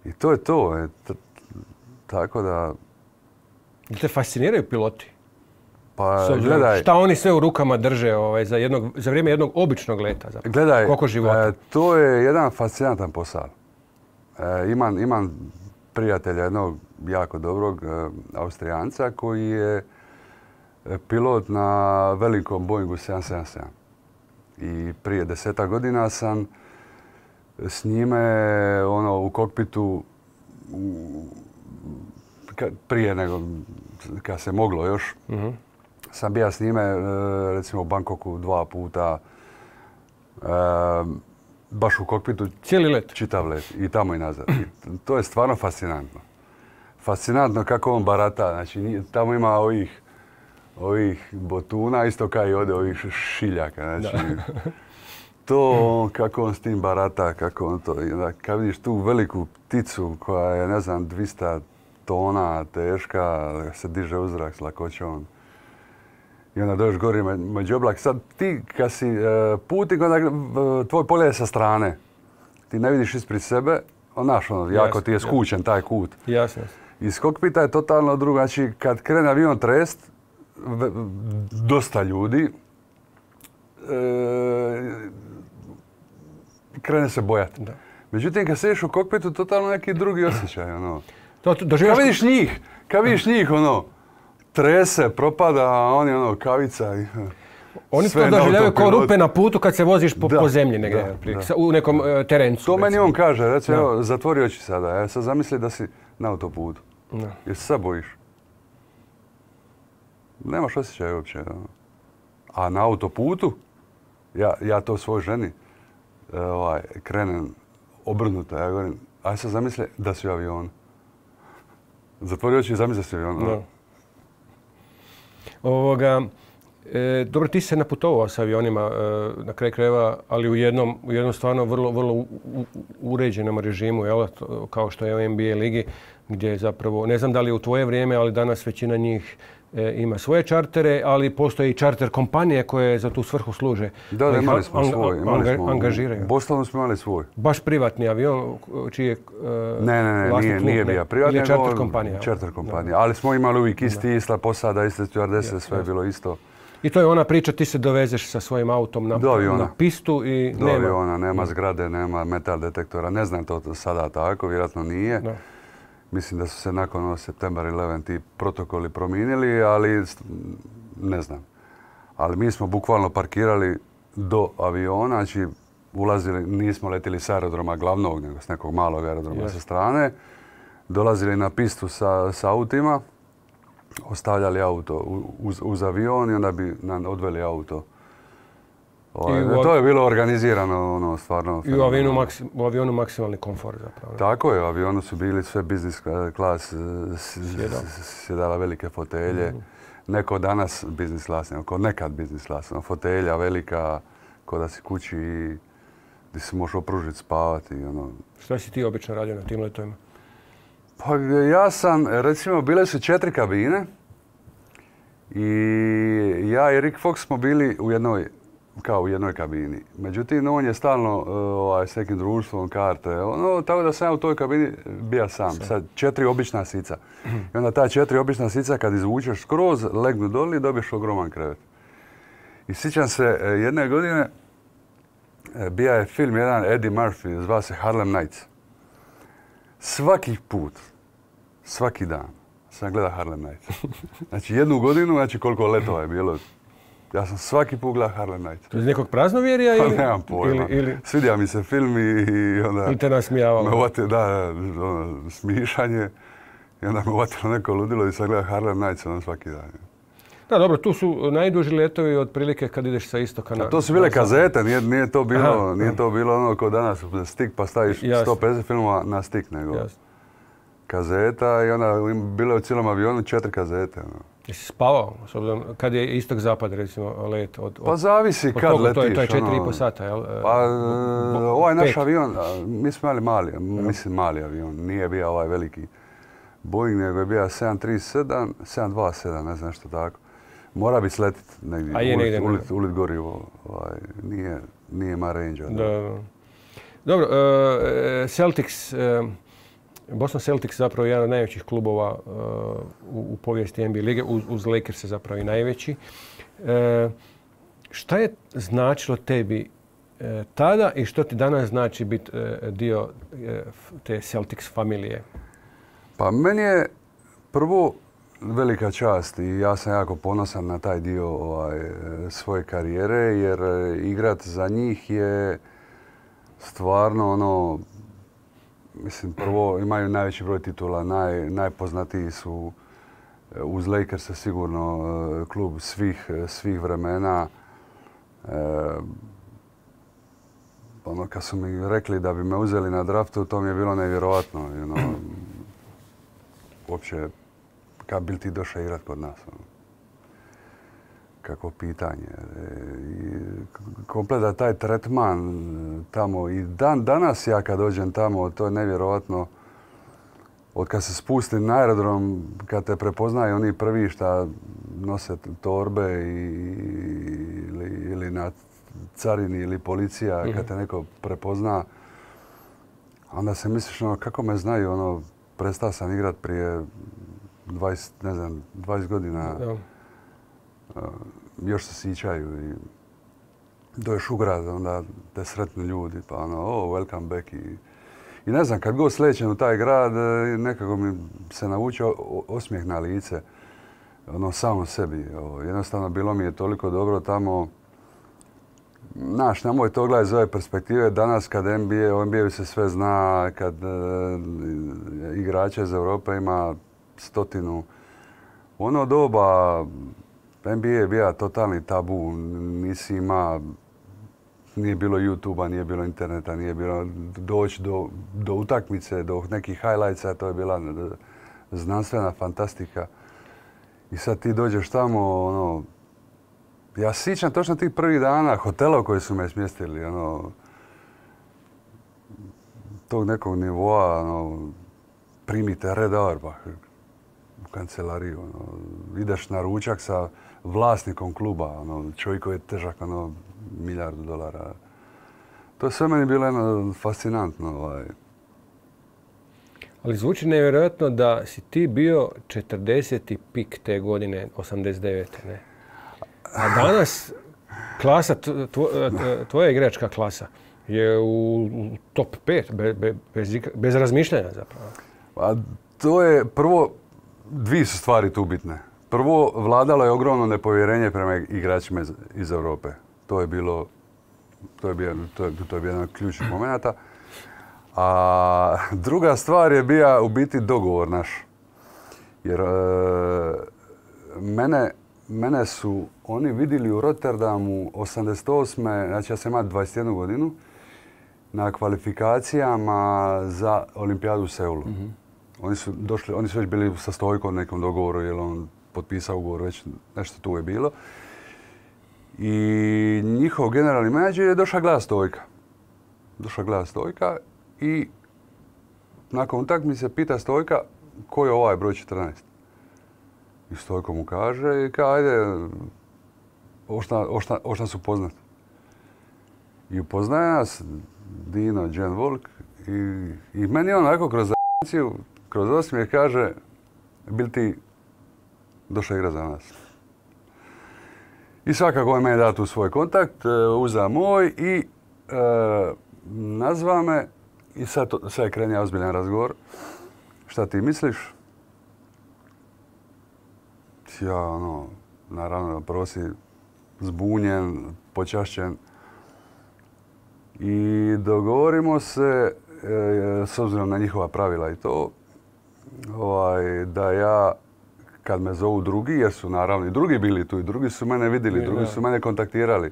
i, i to je to. E, t, tako da... Te fasciniraju piloti? Pa, gledaj, šta oni sve u rukama drže ovaj, za, jednog, za vrijeme jednog običnog leta? Zapravo. Gledaj, koliko života? E, to je jedan fascinantan posao. E, imam, imam prijatelja jednog jako dobrog e, Austrijanca koji je pilot na velikom Boeingu sedam sedam sedam. I prije deseta godina sam s njime ono, u kokpitu u, ka, prije nego kad se moglo još. Uh-huh. Sam bio s njime, recimo u Bangkoku dva puta, e, baš u kokpitu. Cijeli let? Čitav let. I tamo i nazad. I to je stvarno fascinantno. Fascinantno kako on barata. Znači, tamo ima ovih, ovih botuna, isto kao i ovdje ovih šiljaka. Znači, to kako on s tim barata, kako on to... Kad vidiš tu veliku pticu koja je, ne znam, dvjesto tona teška, se diže u zrak s lakoćom. I onda dođeš gori među oblak. Sad ti kad si e, putnik, onda tvoj pogled je sa strane. Ti ne vidiš ispred sebe, onaš ono, jako jasne, ti je skučen jasne. Taj kut. Jasne. Iz kokpita je totalno drugo. Znači kad krene avion trest, v, dosta ljudi, e, krene se bojati. Da. Međutim, kad sediš u kokpitu, totalno neki drugi osjećaj. Ono. To, to, doživaš... Kad vidiš njih, kad vidiš njih, ono, trese, propada, a oni ono, kavica i... Oni to doživljavaju kao rupe na putu kad se voziš po, da, po zemlji negdje, da, da. U nekom uh, terencu. To recimo. Meni on kaže, recimo, evo, zatvori oči sada, ja sad zamisli da si, na autoputu. No. Jer se sad bojiš. Nemaš osjećaj uopće. No. A na autoputu, ja, ja to svoj ženi ovaj, krenem obrnuto. Ja govorim, aj sad zamisli da si u avionu. Zatvori oči i zamisli da si u avionu. No. Ovoga, e, dobro, ti si se naputovao sa avionima e, na kraj krajeva, ali u jednom, u jednom stvarno vrlo, vrlo u, u, uređenom režimu, jel? Kao što je u N B A ligi, gdje zapravo, ne znam da li je u tvoje vrijeme, ali danas većina njih e, ima svoje čartere, ali postoje i čarter kompanije koje za tu svrhu služe. Da, da, imali smo an, svoj. Imali anga, smo, angažiraju. U Bostonu smo imali svoj. Baš privatni avion, čiji je e, Ne, ne, ne, nije, nije bio privatni. Ili je čarter kompanija. Čarter kompanija. Ali smo imali uvijek isti, ista posada, iste stjuardese, sve je bilo isto. I to je ona priča, ti se dovezeš sa svojim autom na, na pistu i do nema... aviona, nema zgrade, nema metal detektora. Ne znam to sada tako, vjerojatno nije. Da. Mislim da su se nakon September eleven ti protokoli promijenili, ali ne znam. Ali mi smo bukvalno parkirali do aviona, znači ulazili, nismo letili s aerodroma glavnog, nego s nekog malog aerodroma yes. sa strane. Dolazili na pistu sa, sa autima, ostavljali auto uz, uz avion i onda bi nam odveli auto. Ovaj, u, to je bilo organizirano, ono, stvarno. I u avionu, maksim, u avionu maksimalni komfort zapravo. Tako je, u avionu su bili sve business class, sjedala velike fotelje. Mm. Neko danas business class, neko nekad business class. Ono, fotelja velika, ko da si kući i gdje se možeš opružiti, spavati. Ono. Šta si ti obično radio na tim letovima? Pa ja sam, recimo, bile su četiri kabine i ja i Rick Fox smo bili u jednoj, kao u jednoj kabini. Međutim, on je stalno ovaj, s nekim društvom, karte, ono, tako da sam ja u toj kabini bija sam. Sad četiri obična sica. I onda ta četiri obična sica kad izvučeš skroz, legnu doli i dobiješ ogroman krevet. I sjećam se jedne godine, bija je film jedan Eddie Murphy, zvao se Harlem Nights. Svaki put, svaki dan sam gledao Harlem Nights. Znači jednu godinu, znači koliko letova je bilo. Ja sam svaki put gledao Harlem Nights. To je iz nekog praznovjerja ili? Pa nemam pojma. Ili, ili... Svidija mi se film i, i onda... Ili te nasmijavalo? Me uvati, da, ono, smišanje. I onda me uvatilo neko ludilo i sam gledao Harlem Nights ono svaki dan. Da, dobro, tu su najduži letovi otprilike kad ideš sa istoka na... A to su bile kazete, nije, nije, to, bilo, aha, nije to bilo ono kao danas, stik pa staviš jasne. sto pedeset filmova na stik, nego jasne. Kazeta i onda bilo je u cijelom avionu četiri kazete. Ono. Jesi spavao, s obzirom, kad je istok-zapad, recimo, let? Od, od, pa zavisi od kad koliko, letiš. To je, to je četiri i po sata, jel? Pa ovaj naš avion, mi smo imali mali, mislim mali avion, nije bio ovaj veliki Boeing, nego je bio sedam tri sedam, sedam dva sedam, ne znam što tako. Mora bi sletiti negdje, ulit, negdje ulit, ulit gorivo, ovaj, nije, nije ma range. Da, da. Dobro, uh, Celtics, uh, Boston Celtics zapravo je jedan od najvećih klubova uh, u, u povijesti N B A lige, uz, uz Lakers je zapravo i najveći. Uh, šta je značilo tebi uh, tada i što ti danas znači biti uh, dio uh, te Celtics familije? Pa meni je prvo velika čast i ja sam jako ponosan na taj dio ovaj, svoje karijere jer igrat za njih je stvarno ono, mislim prvo imaju najveći broj titula, naj, najpoznatiji su uz Lakers sigurno klub svih, svih vremena. E, ono kad su mi rekli da bi me uzeli na draftu, to mi je bilo nevjerojatno. You know, uopće kad bi ti došao igrat kod nas? Ono. Kako pitanje. I kompleta taj tretman tamo i dan danas ja kad dođem tamo, to je nevjerojatno. Od kad se spusti na aerodrom, kad te prepoznaju oni prvi šta nose torbe i, ili, ili na carini ili policija, mm-hmm. kad te neko prepozna, onda se misliš ono, kako me znaju, ono, prestao sam igrat prije dvadeset, ne znam, dvadeset godina. Da. Uh, još se sićaju i dođeš u grad, onda te sretnu ljudi, pa ono, oh, welcome back. I, i ne znam, kad god slećem u taj grad, nekako mi se naučio osmijeh na lice, ono, samo sebi. O, jednostavno, bilo mi je toliko dobro tamo. Znaš, nemoj to gledati iz ove perspektive. Danas kad N B A, o N B A-u se sve zna, kad e, igrača iz Europe ima stotinu. U ono doba N B A je bio totalni tabu. Nisi ima, nije bilo YouTube-a, nije bilo interneta, nije bilo doći do, do utakmice, do nekih highlightsa. To je bila znanstvena fantastika. I sad ti dođeš tamo, ono, ja se sjećam točno tih prvih dana hotela u koji su me smjestili, ono, tog nekog nivoa, ono, primite red Auerbach u kancelariju, ono, ideš na ručak sa vlasnikom kluba, ono, čovjek koji je težak, ono, milijardu dolara. To je sve meni bilo jedno fascinantno, ovaj. Ali zvuči nevjerojatno da si ti bio četrdeseti pik te godine, osamdeset devete. Ne? A danas klasa, tvoja igračka klasa je u top pet, be, be, bez, bez razmišljanja zapravo. A to je prvo, dvije su stvari tu bitne. Prvo, vladalo je ogromno nepovjerenje prema igračima iz, iz Europe. To je bilo, to je bio, to je, to je bio jedan od ključnih momenata. A druga stvar je bio u biti dogovor naš. Jer e, mene, mene su oni vidjeli u Rotterdamu osamdeset osme. Znači ja sam imao dvadeset jednu godinu na kvalifikacijama za olimpijadu u Seulu. Mm-hmm. Oni su došli, oni su već bili sa Stojkom nekom dogovoru jer on potpisao ugovor, već nešto tu je bilo. I njihov generalni menadžer je došao gledati Stojka. Došao gledati Stojka. I nakon utakmice pita Stojka ko je ovaj broj četrnaest. I Stojko mu kaže i kaže ajde, ošta su poznat. I upoznaje nas Dino, Jen Volk i, i meni onako kroz zajedniciju, kroz osmijeh kaže bil ti došao igra za nas. I svakako je meni dao tu svoj kontakt, uzeo moj i e, nazva me. I sad, to, sad je krenio ozbiljan razgovor. Šta ti misliš? Ja, ono, naravno, prvo si zbunjen, počašćen. I dogovorimo se, e, s obzirom na njihova pravila i to, ovaj, da ja, kad me zovu drugi, jer su naravno i drugi bili tu, i drugi su mene vidjeli, drugi su mene kontaktirali.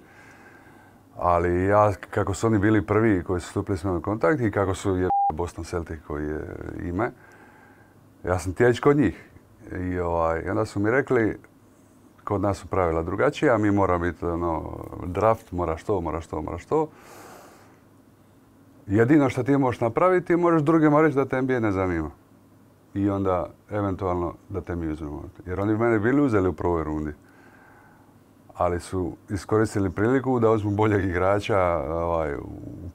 Ali ja, kako su oni bili prvi koji su stupili s mnom u kontakt i kako su je Boston Celtic koji je ime, ja sam tjeć kod njih. I ovaj, onda su mi rekli, kod nas su pravila drugačija, mi mora biti ono, draft, moraš to, moraš to, moraš to. Jedino što ti možeš napraviti, možeš drugima reći da te N B A ne zanima. I onda, eventualno, da te mi uzmemo. Jer oni bi mene bili uzeli u prvoj rundi. Ali su iskoristili priliku da uzmu boljeg igrača ovaj, u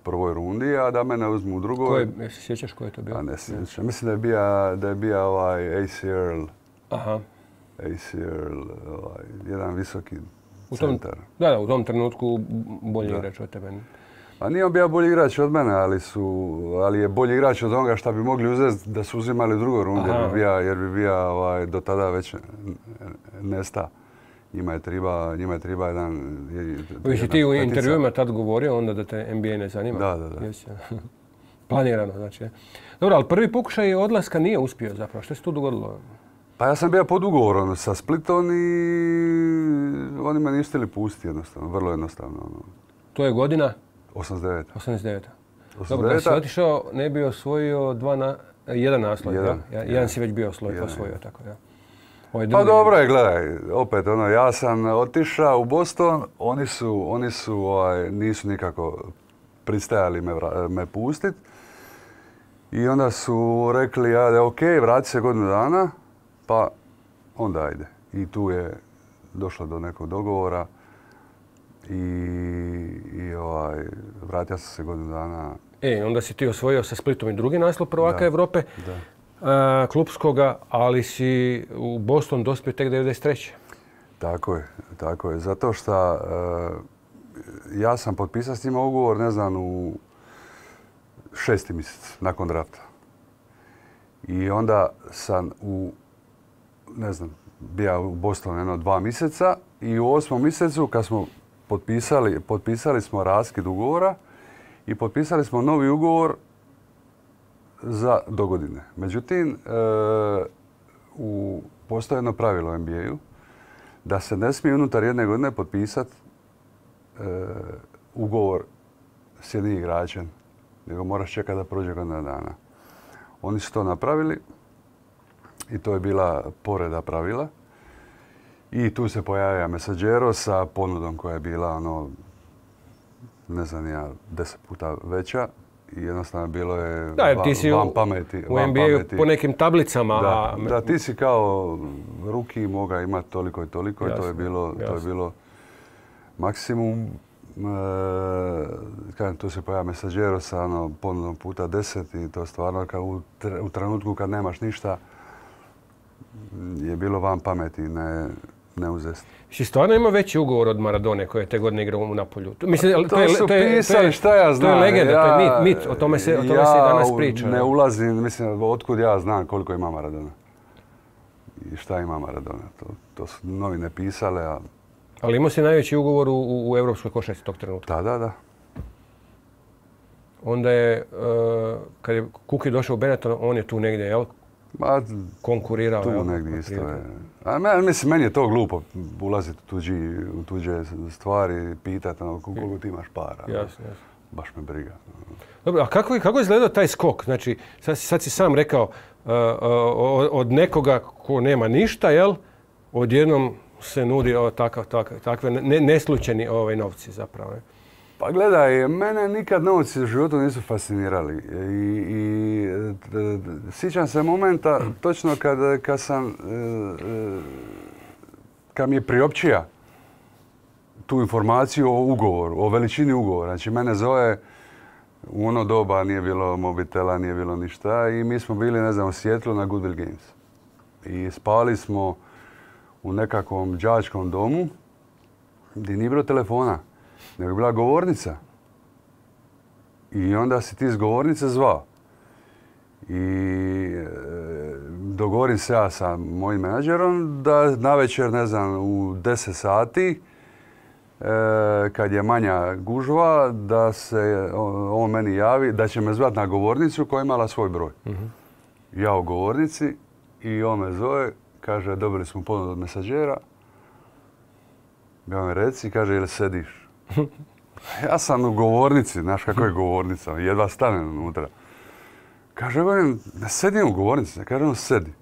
prvoj rundi, a da mene uzmu u drugoj. Ko je, se sjećaš ko je to bio? A ne sjećam. Mislim da je bio, da je bio ovaj A C Earl. Aha. A C Earl, ovaj, jedan visoki u tom, centar. Da, da, u tom trenutku bolji da. igrač od tebe. A nije on bio bolji igrač od mene, ali, su, ali je bolji igrač od onoga što bi mogli uzeti da su uzimali u drugoj rundi, jer bi bio, jer bi bio ovaj, do tada već nesta. Njima je treba, njima je treba jedan... Viš i ti u intervjuima tad govorio onda da te N B A ne zanima? Da, da, da. Jesi, planirano, znači. Dobro, ali prvi pokušaj odlaska nije uspio zapravo. Što se tu dogodilo? Pa ja sam bio pod ugovorom sa Splitom i oni me nisu htjeli pustiti jednostavno, vrlo jednostavno. To je godina? osamdeset deveta. osamdeset deveta. Dobro, kad si otišao, ne bi osvojio dva na, jedan naslov, jedan, ja? jedan, jedan si već bio osvojio, osvojio tako, ja. Pa dobro je, gledaj, opet ono, ja sam otišao u Boston, oni su, oni su, ovaj, nisu nikako pristajali me, me pustiti. I onda su rekli, ajde, ok, vrati se godinu dana, pa onda ajde. I tu je došlo do nekog dogovora i, i ovaj, vratio sam se godinu dana. E, onda si ti osvojio sa Splitom i drugi naslov prvaka da, Europe. Da. Uh, klupskoga, ali si u Boston dospio tek devedeset treće. Tako je, tako je. Zato što uh, ja sam potpisao s njima ugovor, ne znam, u šesti mjesec nakon drafta. I onda sam u, ne znam, bio u Bostonu jedno dva mjeseca i u osmom mjesecu kad smo potpisali, potpisali smo raskid ugovora i potpisali smo novi ugovor za dogodine. Međutim, e, u, postoji jedno pravilo u N B A-u da se ne smije unutar jedne godine potpisati e, ugovor s jednim igračem, nego moraš čekati da prođe godina dana. Oni su to napravili i to je bila povreda pravila. I tu se pojavio Messaggero sa ponudom koja je bila, ono, ne znam ja, deset puta veća. I jednostavno bilo je da, van, ti si van pameti. U N B A-u po nekim tablicama. Da, da, ti si kao ruki moga imati toliko i toliko. Jasno, to je bilo, to je bilo maksimum. E, kažem, tu se pojavio Messaggero sa ono, ponudom puta deset i to stvarno kad u, u trenutku kad nemaš ništa je bilo van pameti, ne, ne uzesti. Si stvarno ima veći ugovor od Maradone koje je te godine igrao u Napolju? Mislim, to, to su to je, pisali, šta ja znam. To je legenda, ja, to je mit, mit. O tome se, o tome ja se i danas priča. Ja ne ulazim, mislim, otkud ja znam koliko ima Maradona. I šta ima Maradona. To, to su novine pisale, a... Ali imao si najveći ugovor u, u europskoj košarci tog trenutka? Da, da, da. Onda je, uh, kad je Kuki došao u Benetton, on je tu negdje, jel? Ma, konkurirao. Tu jel? negdje isto je. A men, mislim, meni je to glupo ulaziti u, tuđi, u tuđe stvari i pitati ono, koliko ti imaš para. Jasno, jasno. Baš me briga. Dobro, a kako, kako je izgledao taj skok? Znači, sad, sad si sam rekao, uh, uh, od nekoga ko nema ništa, jel? Odjednom se nudi o, takav, takav, takve ne, neslučajni ovaj, novci zapravo. Ne? Pa gledaj, mene nikad novci u životu nisu fascinirali. I, i sjećam se momenta točno kad, kad sam, kad mi je priopćija tu informaciju o ugovoru, o veličini ugovora. Znači, mene zove, u ono doba nije bilo mobitela, nije bilo ništa i mi smo bili, ne znam, u Sijetlu na Goodwill Games. I spali smo u nekakvom đačkom domu gdje nije bilo telefona, nego je bila govornica. I onda si ti iz govornice zvao. I e, dogovorim se ja sa mojim menadžerom da navečer, ne znam, u deset sati, e, kad je manja gužva, da se on, on meni javi, da će me zvati na govornicu koja je imala svoj broj. Uh-huh. Ja u govornici i on me zove, kaže, dobili smo ponudu od Messaggera. Ja me reci, kaže, jel sediš? Ja sam u govornici, znaš kako je govornica, jedva stanem unutra. Kaže, govorim, ne sedim u govornici, ne kaže on sedi.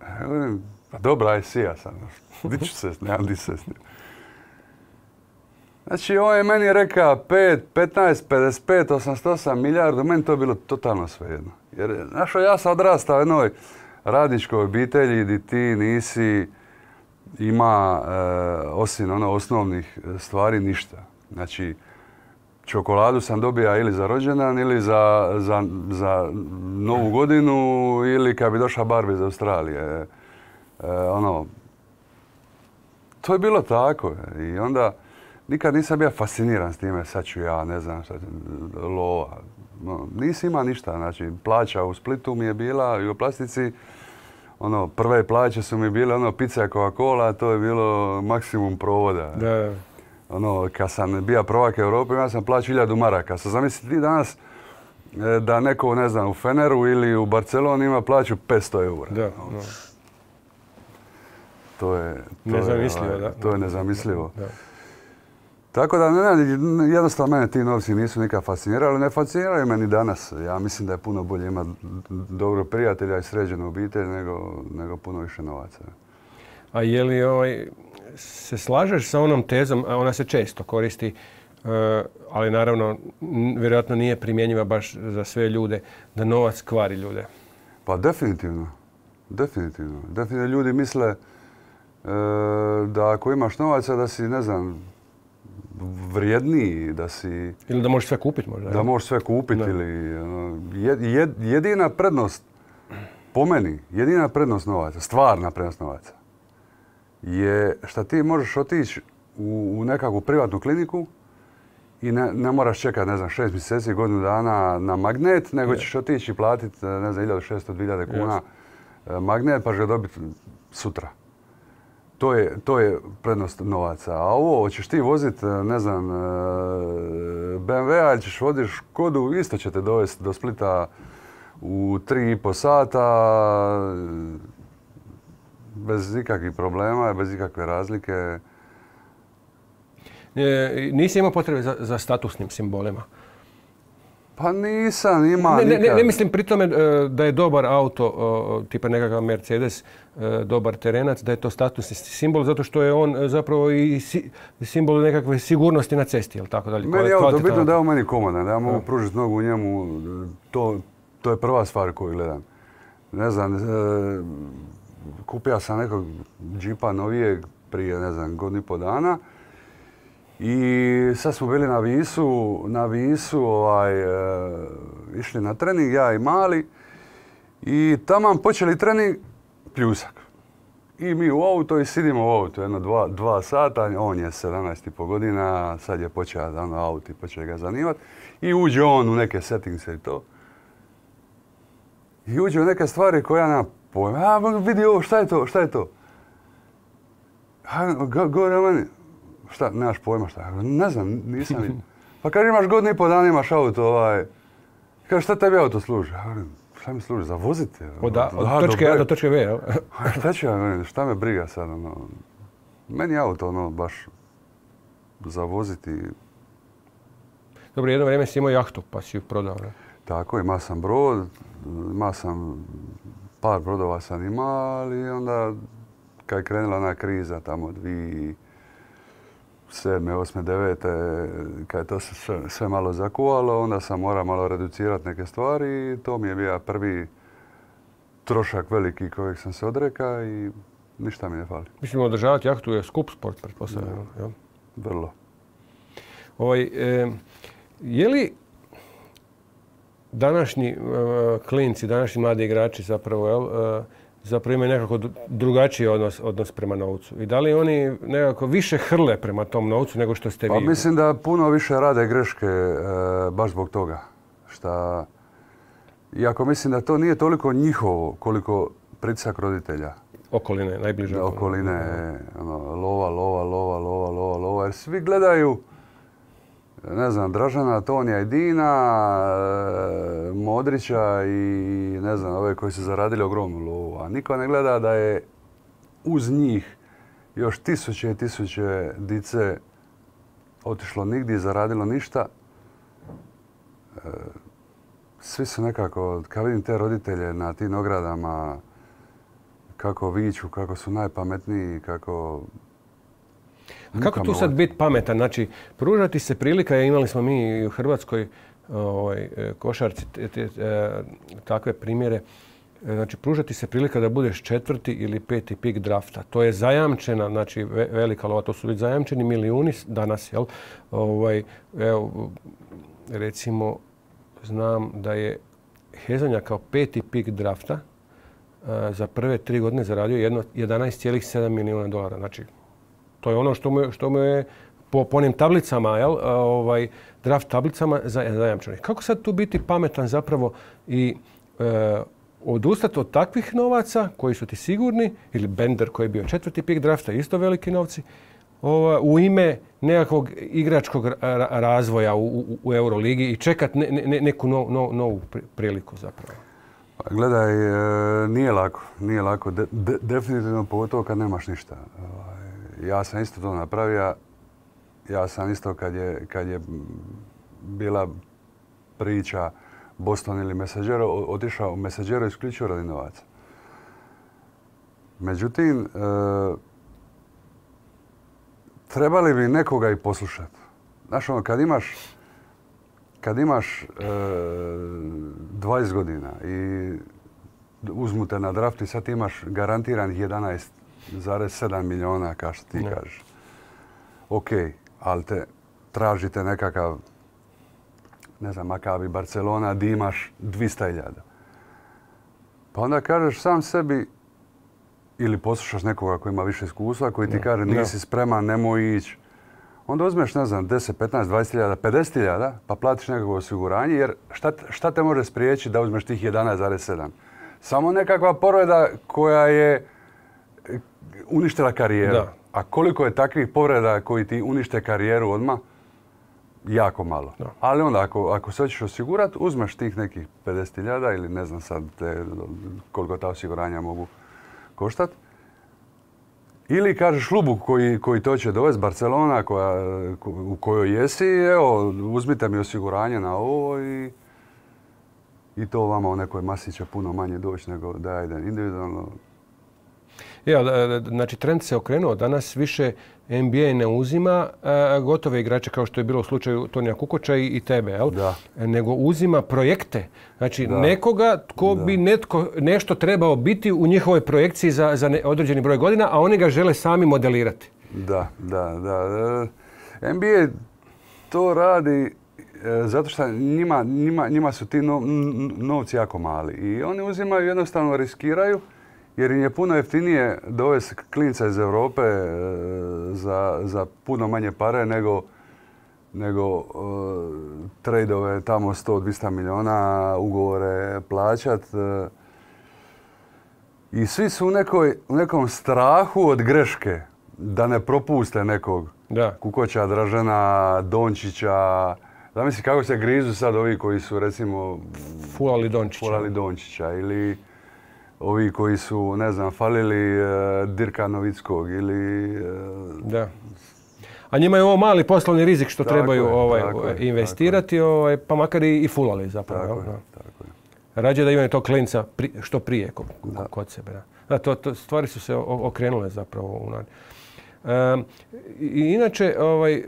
Ja govorim, pa dobro, aj sija sam, di ću se, nemam di se s njim. Znači, on je meni rekao pet, petnaest, pedeset pet, osamdeset osam milijardu, meni to je bilo totalno svejedno. Jer, znaš, ja sam odrastao u jednoj radničkoj obitelji gdje ti nisi ima, e, osim ono, osnovnih stvari, ništa. Znači, čokoladu sam dobija ili za rođendan, ili za, za, za Novu godinu, ili kad bi došla Barbie iz Australije. E, ono, to je bilo tako. I onda nikad nisam bio fasciniran s time, sad ću ja, ne znam, sad, lova. No, nisi ima ništa. Znači, plaća u Splitu mi je bila i u Plastici. Ono, prve plaće su mi bile ono, pizza Coca-Cola, to je bilo maksimum provoda. Da. Ono, kad sam bio prvak Europe, imao sam plaću hiljadu maraka. Sad zamisli ti danas da neko, ne znam, u Feneru ili u Barceloni ima plaću petsto eura. Da, no. da. To je, to nezamislivo, je, da. To je nezamislivo. Da. Tako da, ne, ne, jednostavno mene ti novci nisu nikad fascinirali, ne fasciniraju me ni danas. Ja mislim da je puno bolje imati dobro prijatelja i sređenu obitelj nego, nego puno više novaca. A je li ovaj, se slažeš sa onom tezom, a ona se često koristi, uh, ali naravno vjerojatno nije primjenjiva baš za sve ljude, da novac kvari ljude? Pa definitivno. Definitivno. Definitivno ljudi misle uh, da ako imaš novaca da si, ne znam, vrijedniji, da si... Ili da možeš sve kupiti možda. Da možeš sve kupiti ili... Jed, jed, jedina prednost, po meni, jedina prednost novaca, stvarna prednost novaca, je što ti možeš otići u, u nekakvu privatnu kliniku i ne, ne moraš čekati, ne znam, šest mjeseci, godinu dana na magnet, nego ćeš otići i platiti, ne znam, hiljadu šesto do dvije hiljade kuna yes. magnet pa će ga dobiti sutra. To je, to je prednost novaca. A ovo, hoćeš ti voziti, ne znam, B M W-a ili ćeš voziti Škodu, isto će te dovesti do Splita u tri i po sata, bez ikakvih problema, bez ikakve razlike. E, nisi imao potrebe za, za statusnim simbolima? Pa nisam imao ne, nikad. Ne, ne mislim pri tome da je dobar auto, tipa nekakav Mercedes, dobar terenac, da je to statusni simbol, zato što je on zapravo i simbol nekakve sigurnosti na cesti, ili tako dalje. Meni je auto bitno da je on meni komodan, da ja mogu pružiti nogu u njemu, to, to je prva stvar koju gledam. Ne znam, kupio sam nekog džipa novijeg prije, ne znam, godinu i po dana. I sad smo bili na Visu, na Visu ovaj, e, išli na trening, ja i mali. I taman počeli trening, pljusak. I mi u auto i sidimo u auto jedno dva, dva sata. On je sedamnaest i po godina, sad je počeo da ono auto i počeo ga zanimati. I uđe on u neke settingse i to. I uđe u neke stvari koje ja nemam pojma. A vidi ovo, šta je to, šta je to? A, govori o meni. Šta, nemaš pojma šta? Ne znam, nisam vidio. Pa kaže, imaš godinu i pol dana, imaš auto, ovaj... Kaže, šta tebi auto služi? Šta mi služi? Za voziti? Od, da, od točke A do točke B, jel? Šta ću ja, šta me briga sad, ono... Meni je auto, ono, baš... za voziti. Dobro, jedno vrijeme si imao jahtu, pa si ju prodao, ne? Tako, imao sam brod, imao sam... Par brodova sam imao, ali onda... Kad je krenula ona kriza, tamo dvije... sedme, osme, devete, kad je to sve, sve malo zakuvalo, onda sam morao malo reducirati neke stvari i to mi je bio prvi trošak veliki kojeg sam se odrekao i ništa mi ne fali. Mislim, održavati jahtu je skup sport, pretpostavljam. Ja. Vrlo. Ovaj, e, je li današnji e, klinci, današnji mladi igrači zapravo, jel, e, zapravo imaju nekako drugačiji odnos, odnos prema novcu. I da li oni nekako više hrle prema tom novcu nego što ste pa vi? Pa mislim da puno više rade greške e, baš zbog toga. Šta, iako mislim da to nije toliko njihovo koliko pritisak roditelja. Okoline, najbliže da, okoline. Okoline, ono, lova, lova, lova, lova, lova, lova. Jer svi gledaju, ne znam, Dražana, Tonija i Dina, Modrića i ne znam, ove koji su zaradili ogromnu lovu. A niko ne gleda da je uz njih još tisuće i tisuće dice otišlo nigdje i zaradilo ništa. Svi su nekako, kad vidim te roditelje na tim ogradama, kako viču, kako su najpametniji, kako... A kako tu sad biti pametan? Znači, pružati se prilika, imali smo mi u Hrvatskoj ovaj, košarci te, te, takve primjere, znači pružati se prilika da budeš četvrti ili peti pik drafta. To je zajamčena, znači velika lova, to su već zajamčeni milijuni danas, jel? Ovaj, evo, recimo, znam da je Hezonja kao peti pik drafta za prve tri godine zaradio jedanaest zarez sedam milijuna dolara. Znači, to je ono što mu, što mu je po, po onim tablicama, jel, ovaj, draft tablicama zajamčeno. Kako sad tu biti pametan zapravo i e, odustati od takvih novaca koji su ti sigurni, ili Bender koji je bio četvrti pik drafta, isto veliki novci, ova, u ime nekakvog igračkog razvoja u, u, u Euroligi i čekati ne, ne, neku no, no, novu priliku zapravo? Gledaj, nije lako. Nije lako. De, de, definitivno pogotovo kad nemaš ništa. Ja sam isto to napravio. Ja sam isto kad je, kad je bila priča Boston ili Messaggero, otišao u Messaggero isključivo radi novaca. Međutim, e, trebali bi nekoga i poslušati. Znaš, ono, kad imaš, kad imaš e, dvadeset godina i uzmu te na draft i sad imaš garantiranih jedanaest zarez sedam milijuna, kao što ti ne. kažeš. Ok, ali te tražite nekakav, ne znam, Maccabi Barcelona, di imaš dvjesto hiljada. Pa onda kažeš sam sebi, ili poslušaš nekoga koji ima više iskustva, koji ti ne. kaže nisi spreman, nemoj ići. Onda uzmeš, ne znam, deset, petnaest, dvadeset hiljada, pedeset hiljada, pa platiš nekakvo osiguranje, jer šta, šta te može spriječiti da uzmeš tih jedanaest zarez sedam? Samo nekakva povreda koja je uništila karijeru. Da. A koliko je takvih povreda koji ti unište karijeru odmah? Jako malo. Da. Ali onda ako, ako se hoćeš osigurati, uzmeš tih nekih pedeset hiljada ili ne znam sad te, koliko ta osiguranja mogu koštati. Ili kažeš klubu koji, koji to će dovesti, Barcelona koja, u kojoj jesi, evo, uzmite mi osiguranje na ovo i, i to vama u nekoj masi će puno manje doći nego da ide individualno. Ja, znači trend se okrenuo. Danas više N B A ne uzima gotove igrače kao što je bilo u slučaju Tonija Kukoča i tebe, jel? Da. Nego uzima projekte. Znači da. Nekoga tko da. bi netko, nešto trebao biti u njihovoj projekciji za, za ne, određeni broj godina, a oni ga žele sami modelirati. Da, da, da. N B A to radi zato što njima, njima, njima su ti no, novci jako mali i oni uzimaju, jednostavno riskiraju. Jer im je puno jeftinije dovesti klinca iz Europe za, za puno manje pare nego, nego uh, trejdove tamo sto do dvjesto milijuna, ugovore plaćat. Uh, I svi su u, nekoj, u nekom strahu od greške da ne propuste nekog da. Kukoća, Dražena, Dončića. Zamisli kako se grizu sad ovi koji su recimo fulali Dončića, fulali Dončića ili ovi koji su, ne znam, falili uh, Dirka Novickog ili... Uh, da. A njima je ovo mali poslovni rizik što tako trebaju je, ovaj, tako investirati, je. Ovaj, pa makar i, i fulali zapravo. Tako, ja, je, tako je. Rađe da imaju to klinca pri, što prije kod, kod sebe. Da. Da, to, to, stvari su se okrenule zapravo u nadi. Um, I inače, ovaj,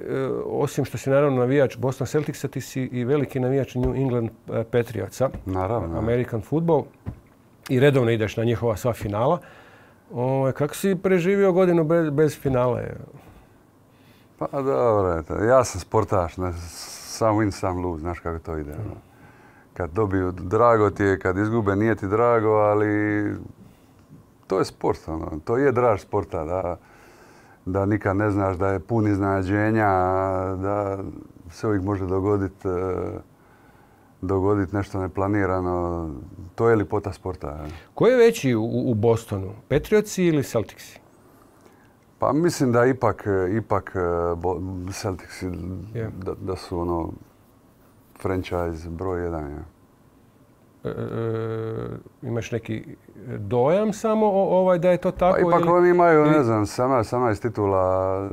osim što si naravno navijač Boston Celticsa, ti si i veliki navijač New England Patriotsa. Naravno. American football. I redovno ideš na njihova sva finala. O, kako si preživio godinu bez, bez finale? Pa dobro, ja sam sportaš, ne, sam win, sam lose, znaš kako to ide. Mm. Kad dobiju, drago ti je, kad izgube, nije ti drago, ali to je sport, ono. To je draž sporta, da, da nikad ne znaš, da je pun iznenađenja, da se uvijek može dogoditi dogoditi nešto neplanirano. To je ljepota sporta. Ko je veći u, u Bostonu? Patriotsi ili Celticsi? Pa mislim da ipak, ipak Celticsi yeah. da, da su ono franchise broj jedan. Ja. E, e, imaš neki dojam samo o, ovaj da je to tako? Pa ipak ili, oni imaju, ili... ne znam, sedamnaest titula,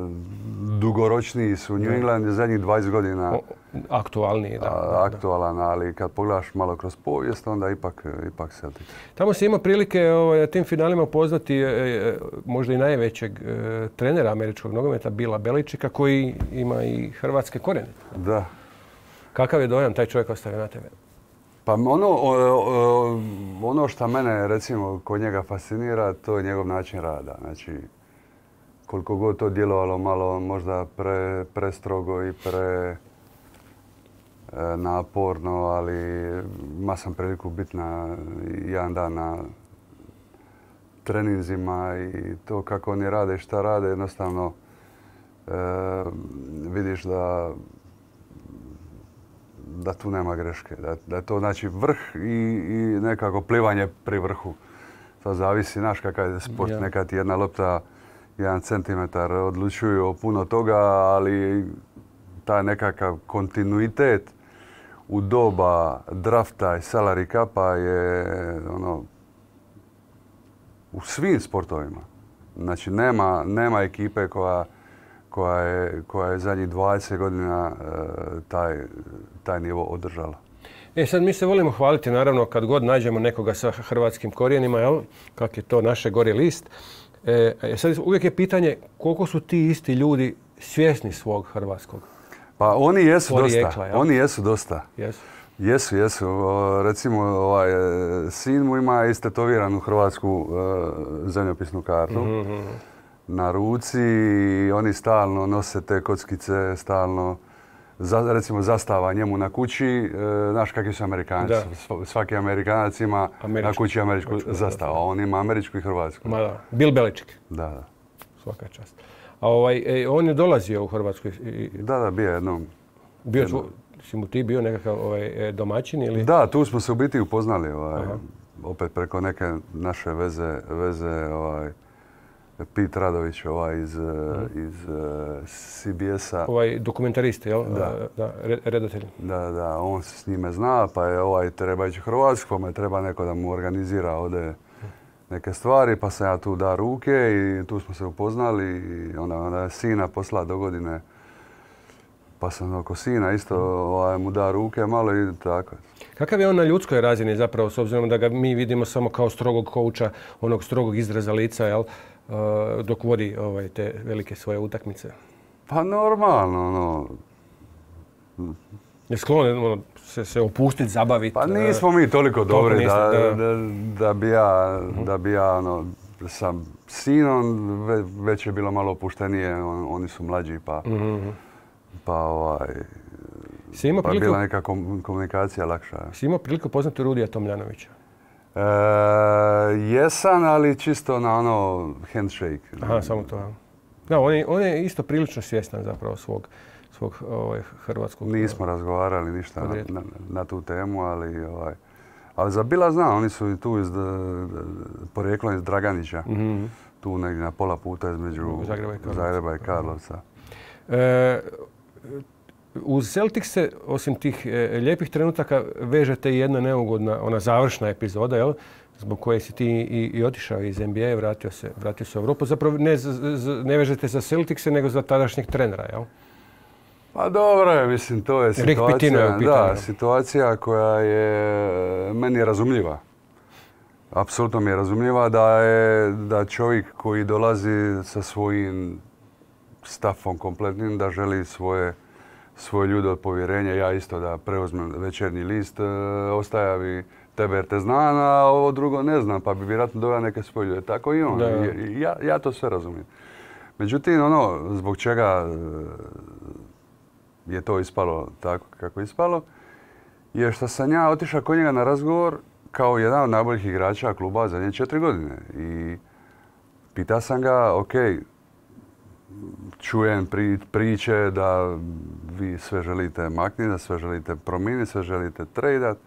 dugoročniji su. New England je zadnjih dvadeset godina. O, aktualniji, da. A, aktualan, da. Ali kad pogledaš malo kroz povijest, onda ipak, ipak Celtic. Tamo se ima prilike ovaj, na tim finalima poznati e, možda i najvećeg e, trenera američkog nogometa, Bila Beličika, koji ima i hrvatske korijene. Da. Kakav je dojam taj čovjek ostavio na tebe? Pa ono, ono što mene recimo kod njega fascinira, to je njegov način rada. Znači, koliko god to djelovalo malo možda pre, prestrogo i pre e, naporno, ali ima sam priliku biti na jedan dan na treninzima i to kako oni rade i šta rade, jednostavno e, vidiš da da tu nema greške, da, da je to znači vrh i, i nekako plivanje pri vrhu. To zavisi, znaš kakav je sport, ja. Nekad jedna lopta, jedan centimetar odlučuju o puno toga, ali taj nekakav kontinuitet u doba drafta i salary capa je ono u svim sportovima. Znači nema, nema ekipe koja koja je, koja je zadnjih dvadeset godina e, taj, taj nivo održala. E sad mi se volimo hvaliti, naravno, kad god nađemo nekoga sa hrvatskim korijenima, jel? Kak je to naše gori list. E, sad uvijek je pitanje koliko su ti isti ljudi svjesni svog hrvatskog Pa oni jesu porijekla, dosta. Jel? Oni jesu dosta. Jesu. Jesu, jesu. O, recimo, ovaj, sin mu ima istetoviranu hrvatsku uh, zemljopisnu kartu. Mm-hmm. Na ruci i oni stalno nose te kockice, stalno, za, recimo zastava njemu na kući, e, znaš kakvi su Amerikanci. Da. Svaki Amerikanac ima američku, na kući američku zastavu, a on ima američku i hrvatsku. Ma da, Bill Belichick. Da, da. Svaka čast. A ovaj, e, on je dolazio u Hrvatsku? I... Da, da, bio jednom. Bio jednom. Si mu ti bio nekakav ovaj, domaćin ili? Da, tu smo se u biti upoznali, ovaj, opet preko neke naše veze, veze ovaj, Pete Radović ovaj iz, mm. iz C B S-a. Ovaj dokumentarist, jel? Da. Da, redatelj. Da, da, on se s njime zna, pa je ovaj treba ići u Hrvatsku, pa me treba neko da mu organizira ovdje neke stvari, pa sam ja tu da ruke i tu smo se upoznali i onda, onda je sina poslala do godine, pa sam oko sina isto ovaj, mu da ruke malo i tako. Kakav je on na ljudskoj razini zapravo, s obzirom da ga mi vidimo samo kao strogog kouča, onog strogog izraza lica, jel? Dok vodi ovaj, te velike svoje utakmice? Pa normalno, ono... Je sklon ono, se, se opustiti, zabaviti? Pa nismo mi toliko dobri niste, da, da. Da, da bi ja, da bi ja ono, sa sinom ve, već je bilo malo opuštenije, on, oni su mlađi pa, mm-hmm. pa, ovaj, pa priliku, bila neka kom, komunikacija lakša. Si imao priliku poznati Rudija Tomljanovića? E, jesam, ali čisto na ono handshake. Aha, samo to. Da, on je, on je isto prilično svjestan zapravo svog, svog ovaj, hrvatskog... Nismo razgovarali ništa na, na, na tu temu, ali, ovaj, ali za Bila zna, oni su tu iz, porijeklom iz Draganića, mm-hmm. tu negdje na pola puta između Zagreba i Karlovca. Zagreba i Karlovca. E, uz Celtic se, osim tih e, lijepih trenutaka, vežete i jedna neugodna, ona završna epizoda, jel? Zbog koje si ti i, i otišao iz N B A, vratio se, vratio se u Europu. Zapravo ne, z, z, ne vežete za Celticse, nego za tadašnjeg trenera, jel? Pa dobro je, mislim, to je situacija, da, situacija koja je meni razumljiva. Apsolutno mi je razumljiva da je da čovjek koji dolazi sa svojim stafom kompletnim, da želi svoje, svoje ljude od povjerenja, ja isto da preuzmem Večernji list, ostaja bi tebe jer te znam, a ovo drugo ne znam, pa bi vjerojatno doveo neke svoje ljude. Tako i on. Ja, ja to sve razumijem. Međutim, ono, zbog čega je to ispalo tako kako je ispalo, je što sam ja otišao kod njega na razgovor kao jedan od najboljih igrača kluba zadnje četiri godine. I pitao sam ga, ok, čujem pri, priče da vi sve želite makniti, da sve želite promijeniti, sve želite tradat.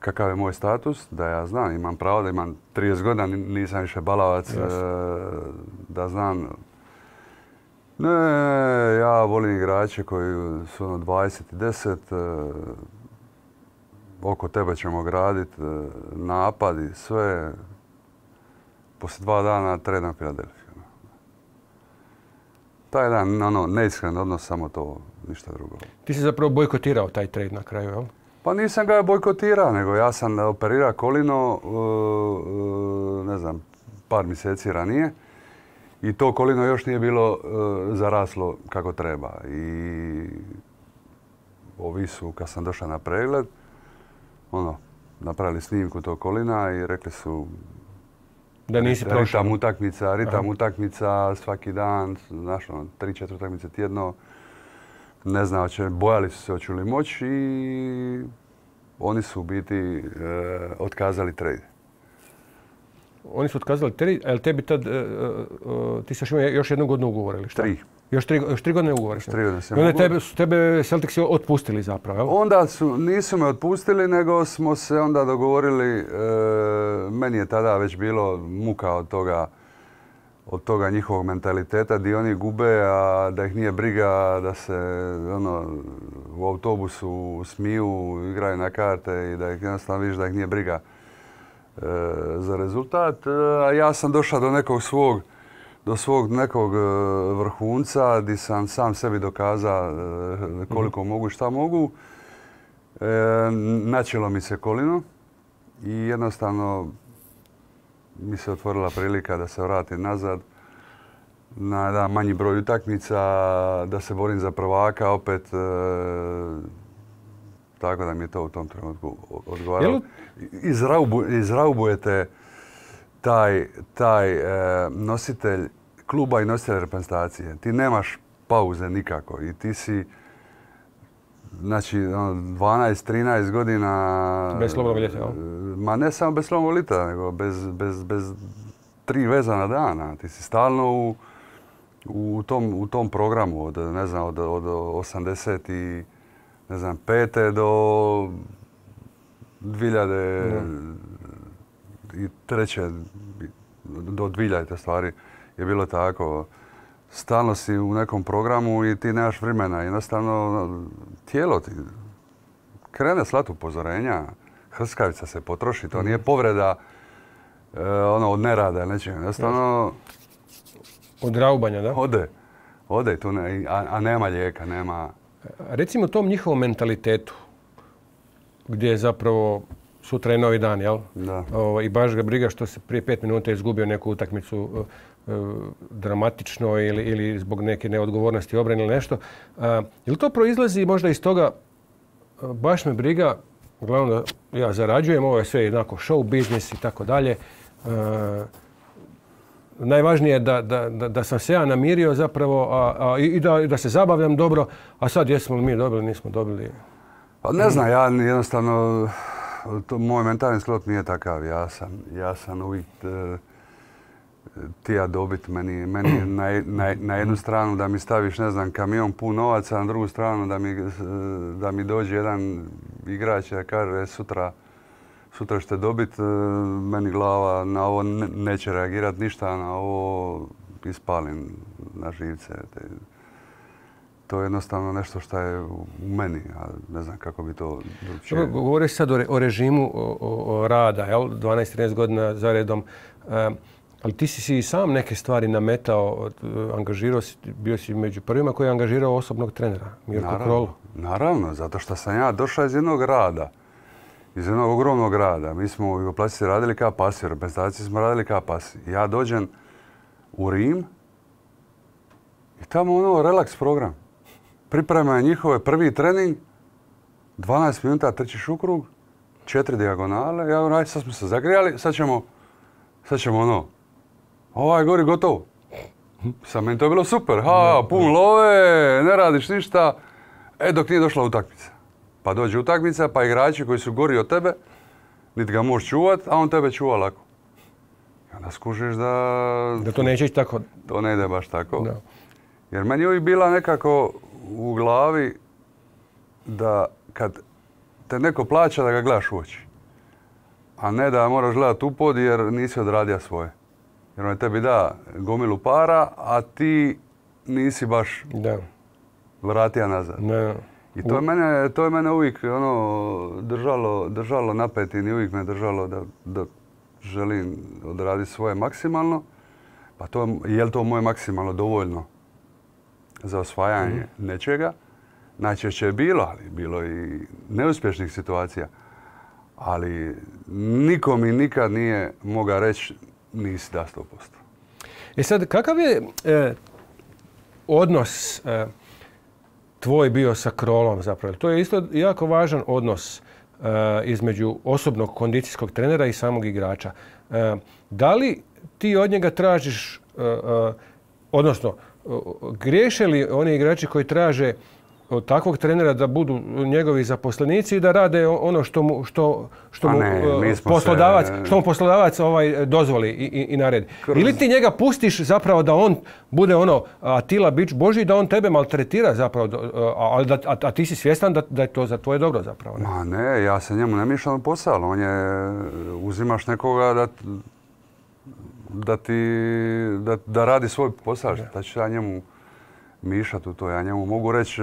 Kakav je moj status? Da ja znam, imam pravo da imam trideset godina, nisam više balavac, yes. Da znam. Ne, ja volim igrače koji su ono dvadeset i deset, oko tebe ćemo graditi napad i sve. Poslije dva dana tredam Filadelfiju. Taj jedan ono, neiskren odnos, samo to, ništa drugo. Ti si zapravo bojkotirao taj trade na kraju, jel? Pa nisam ga bojkotirao, nego ja sam operirao kolino, ne znam, par mjeseci ranije. I to kolino još nije bilo zaraslo kako treba. I ovi su, kad sam došao na pregled, ono, napravili snimku tog kolina i rekli su da nisi prošao. Ritam utakmica, ritam Aha. utakmica svaki dan, znaš, ono, tri, četiri utakmice tjedno. Ne znam, će, bojali su se hoću li moći i oni su u biti e, otkazali trade. Oni su otkazali trade, ali tebi tad, e, e, ti saš imao još jednu godinu ugovora ili šta? Tri. Još tri, još tri godine ugovora? Tri godine sam ugovor. I onda tebe, su tebe Celticsi otpustili zapravo, jel? Onda su, nisu me otpustili, nego smo se onda dogovorili, e, meni je tada već bilo muka od toga, od toga njihovog mentaliteta gdje oni gube, a da ih nije briga, da se ono, u autobusu smiju, igraju na karte i da ih jednostavno vidiš da ih nije briga e, za rezultat. A ja sam došao do nekog svog, do svog nekog vrhunca gdje sam sam sebi dokazao koliko mm-hmm. mogu i šta mogu. E, načelo mi se kolino i jednostavno mi se otvorila prilika da se vratim nazad na jedan manji broj utakmica, da se borim za prvaka opet. E, tako da mi je to u tom trenutku odgovaralo. Izraubu, izraubujete taj, taj e, nositelj kluba i nositelj reprezentacije. Ti nemaš pauze nikako i ti si znači dvanaest trinaest godina... Bez slobodnog ljeta, jel? Ma ne samo bez slobodnog ljeta, nego bez, bez, bez tri vezana dana. Ti si stalno u, u, tom, u tom programu od, ne znam, od, od osamdeset i ne znam, pete do dvije hiljade treće do dvije hiljade stvari. je bilo tako. Stalno si u nekom programu i ti nemaš vremena. Jednostavno, tijelo ti krene slati upozorenja. Hrskavica se potroši. To nije povreda e, ono, od nerada ili nečega. Jednostavno... Od raubanja, da? Ode. Ode tu, ne, a, a nema lijeka, nema... Recimo tom njihovom mentalitetu, gdje je zapravo sutra je novi dan, jel? Da. O, I baš ga briga što se prije pet minuta izgubio neku utakmicu e, dramatično ili, ili zbog neke neodgovornosti obrane ili nešto. A, je li to proizlazi možda iz toga, baš me briga, uglavnom da ja zarađujem, ovo je sve jednako show biznis i tako dalje. Najvažnije je da, da, da, da sam se ja namirio zapravo a, a, i da, da se zabavljam dobro, a sad jesmo li mi dobili, nismo dobili. Pa ne znam, ja jednostavno, to, moj mentalni sklop nije takav. Ja sam, ja sam uvijek e, tija dobit. Meni, meni na, na, na jednu stranu da mi staviš, ne znam, kamion pun novaca, na drugu stranu da mi, da mi dođe jedan igrač i kaže sutra Sutra ćete dobiti, meni glava na ovo neće reagirati ništa, na ovo ispalim na živce. To je jednostavno nešto što je u meni, a ne znam kako bi to drugčije. Govoriš sad o, re, o režimu o, o rada, jel? dvanaest trinaest godina za redom. E, ali ti si si i sam neke stvari nametao, angažirao si, bio si među prvima koji je angažirao osobnog trenera, Mirko Krolo. Naravno, zato što sam ja došao iz jednog rada. Iz jednog ogromnog grada. Mi smo u Jugoplastici radili kao pasi, u reprezentaciji smo radili kao pasi. Ja dođem u Rim i tamo ono relaks program. Pripremaju njihove prvi trening, dvanaest minuta trčiš u krug, četiri dijagonale. Ja govorim, sad smo se zagrijali, sad ćemo, sad ćemo ono, ovaj gori gotovo. Sad meni to je bilo super, ha, pun love, ne radiš ništa, e dok nije došla utakmica. Pa dođe utakmica, pa igrači koji su gori od tebe, niti ga možeš čuvat, a on tebe čuva lako. I onda skužiš da... Da to neće ići tako. To ne ide baš tako. Da. Jer meni je uvijek bila nekako u glavi da kad te neko plaća da ga gledaš u oči. A ne da moraš gledati u pod jer nisi odradio svoje. Jer on tebi da gomilu para, a ti nisi baš da. vratija nazad. Ne. I to je mene, to je mene uvijek ono, držalo, držalo napetim i uvijek me držalo da, da želim odraditi svoje maksimalno. Pa to, je li to moje maksimalno dovoljno za osvajanje mm. nečega? Najčešće je bilo, ali bilo i neuspješnih situacija. Ali niko mi nikad nije mogao reći nisi da sto posto. E sad, kakav je e, odnos e, tvoj bio sa Krolom zapravo? To je isto jako važan odnos uh, između osobnog kondicijskog trenera i samog igrača. Uh, da li ti od njega tražiš, uh, uh, odnosno, uh, griješe li oni igrači koji traže od takvog trenera da budu njegovi zaposlenici i da rade ono što mu, što, što mu, ne, uh, poslodavac, se... što mu poslodavac ovaj, dozvoli i, i, i naredi? Kroz... Ili ti njega pustiš zapravo da on bude ono Atila bič Božji, da on tebe maltretira zapravo, a, da, a, a ti si svjestan da, da je to za tvoje dobro zapravo? Ne? Ma ne, ja se njemu ne mišljam u posao. On je, uzimaš nekoga da, da ti, da, da radi svoj posao. Da ću ja njemu mišati u to. Ja njemu mogu reći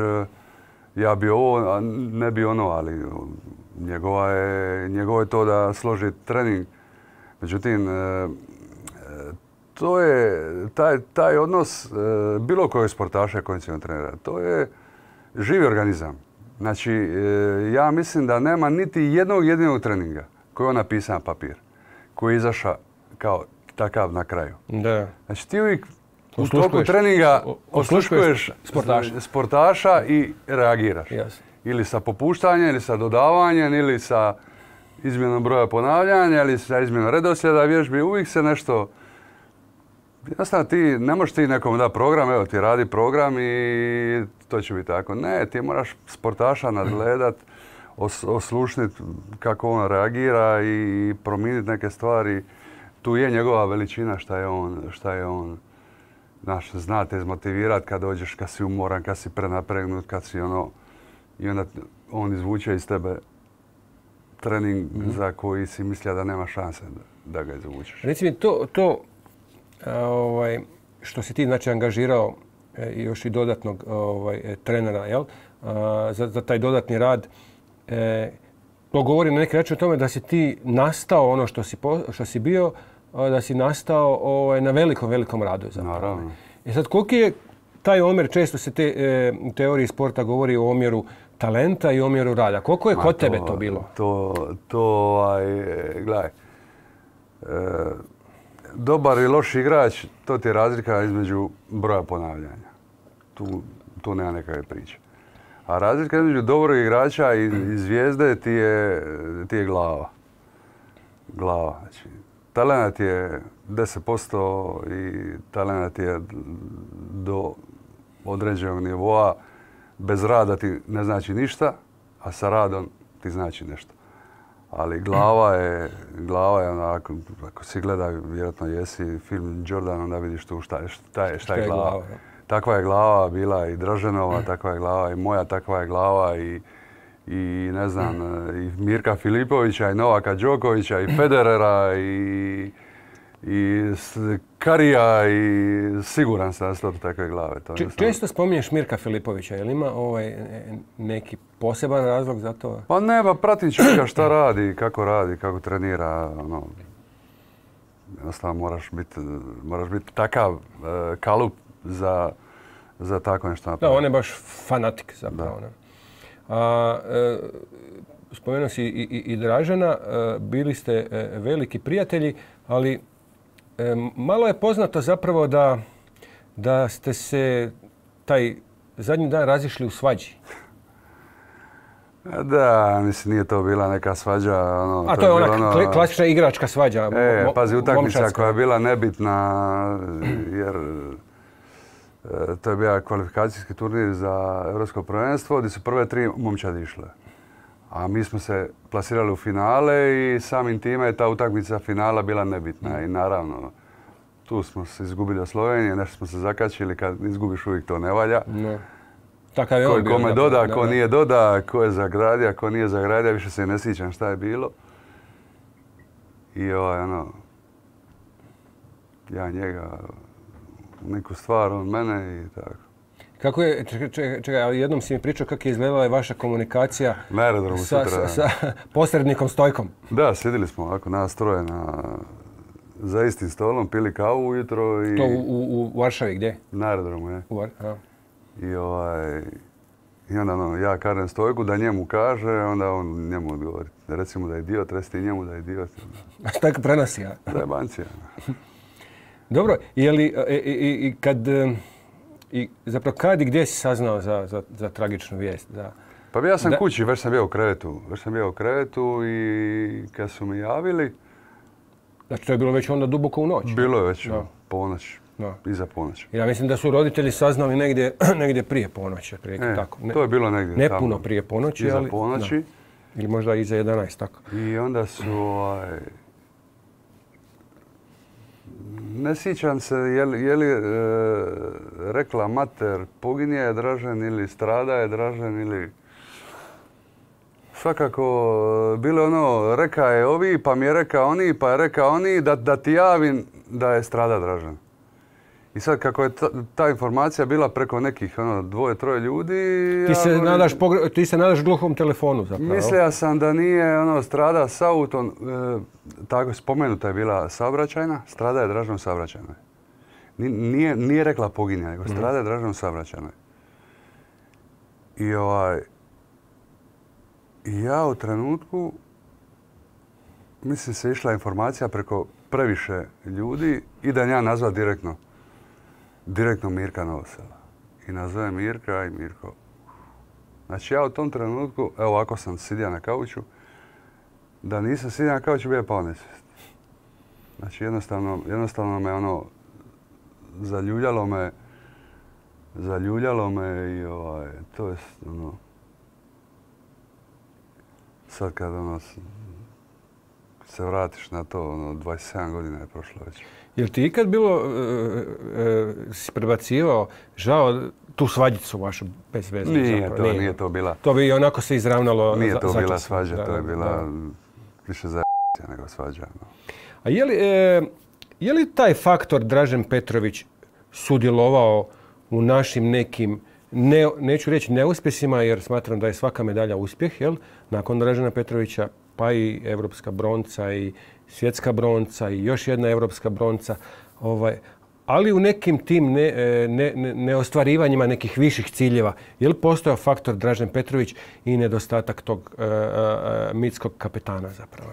ja bi ovo, a ne bi ono, ali njegova je, njegovo je to da složi trening. Međutim, to je taj, taj odnos bilo kojeg sportaša i kondicionog trenera. To je živi organizam. Znači, ja mislim da nema niti jednog jedinog treninga koji je on napisao na papir, koji je izašao kao takav na kraju. Da. Znači, ti uvijek u toku treninga osluškuješ sportaša. sportaša i reagiraš. Yes. Ili sa popuštanjem, ili sa dodavanjem, ili sa izmjenom broja ponavljanja, ili sa izmjenom redoslijeda vježbi. Uvijek se nešto... Jednostavno ti, ne možeš ti nekom dati program, evo ti radi program i to će biti tako. Ne, ti moraš sportaša nadgledat, os, oslušniti kako on reagira i promijeniti neke stvari. Tu je njegova veličina šta je on, šta je on. Znaš, zna te izmotivirati kad dođeš, kad si umoran, kad si prenapregnut, kad si ono... I onda on izvuče iz tebe trening mm. za koji si mislio da nema šanse da, da ga izvučeš. Reci mi, to, to a, ovaj, što si ti znači angažirao e, još i dodatnog ovaj, trenera, jel? A, za, za taj dodatni rad. E, to govori na neki način o tome da si ti nastao ono što si, po, što si bio, da si nastao ovaj, na velikom, velikom radu. Naravno. I sad, koliki je taj omjer, često se te, e, u teoriji sporta govori o omjeru talenta i omjeru rada. Koliko je Ma, kod to, tebe to bilo? To, to ovaj, gledaj, e, dobar i loš igrač, to ti je razlika između broja ponavljanja. Tu, tu nema nekakve priče. A razlika između dobrog igrača i, i zvijezde ti je, ti je glava. Glava. Znači, talent je deset posto i talent je do određenog nivoa. Bez rada ti ne znači ništa, a sa radom ti znači nešto. Ali glava je, glava je onako, ako si gleda, vjerojatno jesi film Jordan, onda vidiš tu šta je, šta je, šta je glava. glava takva je glava bila i Draženova, takva je glava i moja, takva je glava i, i ne znam, i Mirka Filipovića i Novaka Đokovića i Federera i, i Karija i siguran sam da su to takve glave. To Č- često spominješ Mirka Filipovića, je li ima ovaj neki poseban razlog za to? Pa ne, pa pratim čovjeka šta radi, kako radi, kako trenira. Ono, jednostavno moraš biti, moraš biti takav uh, kalup za, za tako nešto napraviti. Da, on je baš fanatik zapravo. Da. A, e, spomenuo si i, i, i Dražena, e, bili ste e, veliki prijatelji, ali e, malo je poznato zapravo da, da ste se taj zadnji dan razišli u svađi. Da, mislim, nije to bila neka svađa. Ono, A to, to je ona ono, klasična igračka svađa. E, mo, pazi, utakmica koja je bila nebitna, jer e, to je bio kvalifikacijski turnir za Europsko prvenstvo, gdje su prve tri momčadi išle. A mi smo se plasirali u finale i samim time je ta utakmica finala bila nebitna. Mm. I naravno, tu smo se izgubili od Slovenije, nešto smo se zakačili, kad izgubiš uvijek to ne valja. Ne. Takav je ko, on bio. Kome doda, ko nije doda, ko je zagradio, ko nije zagradio, više se ne sjećam šta je bilo. I ovaj, ono, ja njega, neku stvar, on mene i tako. Kako je, čekaj, čekaj, čekaj, jednom si mi pričao kako je izgledala vaša komunikacija na aerodromu sa, sutra. Sa, sa posrednikom Stojkom. Da, sjedili smo ovako nas troje na, za istim stolom, pili kavu ujutro i... To u, u, u Varšavi, gdje? Na aerodromu, je. U Var, a. I, ovaj, I onda no, ja kažem Stojku da njemu kaže, onda on njemu odgovori. Recimo da je idiot, reci ti njemu da je idiot. A Stojka prenosi, ja? Da je bancija. Dobro, je li, i, i, i kad, i zapravo kad i gdje si saznao za, za, za tragičnu vijest? Za, pa ja sam da... kući, već sam bio u krevetu. Već sam bio u krevetu i kad su mi javili... Znači to je bilo već onda duboko u noć? Bilo je već da. ponoć. No. Iza ponoći. Ja mislim da su roditelji saznali negdje, negdje prije ponoći. E, tako. Ne, to je bilo negdje ne tamo. puno prije ponoći, iza ali... ponoći. Da. Ili možda iza jedanaest, tako. I onda su... Ovaj, ne sjećam se je li, je li e, rekla mater poginje je Dražen ili strada je Dražen ili... Svakako, bilo je ono, reka je ovi, pa mi je reka oni, pa je reka oni, da, da ti javim da je strada Dražen. I sad, kako je ta, ta informacija bila preko nekih ono, dvoje, troje ljudi... Ti, ja, se, nadaš, ti se nadaš gluhom telefonu zapravo. Mislio sam da nije ono, strada s autom, e, tako spomenuta je bila saobraćajna, strada je Dražen saobraćajnoj. Nije, nije rekla poginja, nego strada mm-hmm. je Dražen saobraćajnoj. I ovaj... I ja u trenutku, mislim se išla informacija preko previše ljudi i da ja nazva direktno, direktno Mirka Novosela. I nazove Mirka i Mirko. Znači ja u tom trenutku, evo ovako sam sidio na kauču, da nisam sidio na kauču bio je pao nesvijest. Znači jednostavno, jednostavno me ono, zaljuljalo me, zaljuljalo me i ovaj, to je ono, sad kad ono, se vratiš na to, ono, dvadeset sedam godina je prošlo već. Jel ti ikad bilo, e, e, si prebacivao, žao, tu svađicu vašu bez veze? Nije, zapravo, to, nije. nije to bila. To bi onako se izravnalo. Nije to za, bila svađa, da, to je bila da. više za nego svađa. No. A je li, e, je li taj faktor Dražen Petrović sudjelovao u našim nekim, ne, neću reći neuspjesima jer smatram da je svaka medalja uspjeh, jel? Nakon Dražena Petrovića pa i evropska bronca i svjetska bronca i još jedna evropska bronca. Ovaj, ali u nekim tim ne, ne, ne, neostvarivanjima nekih viših ciljeva. Je li postojao faktor Dražen Petrović i nedostatak tog uh, uh, mitskog kapetana zapravo?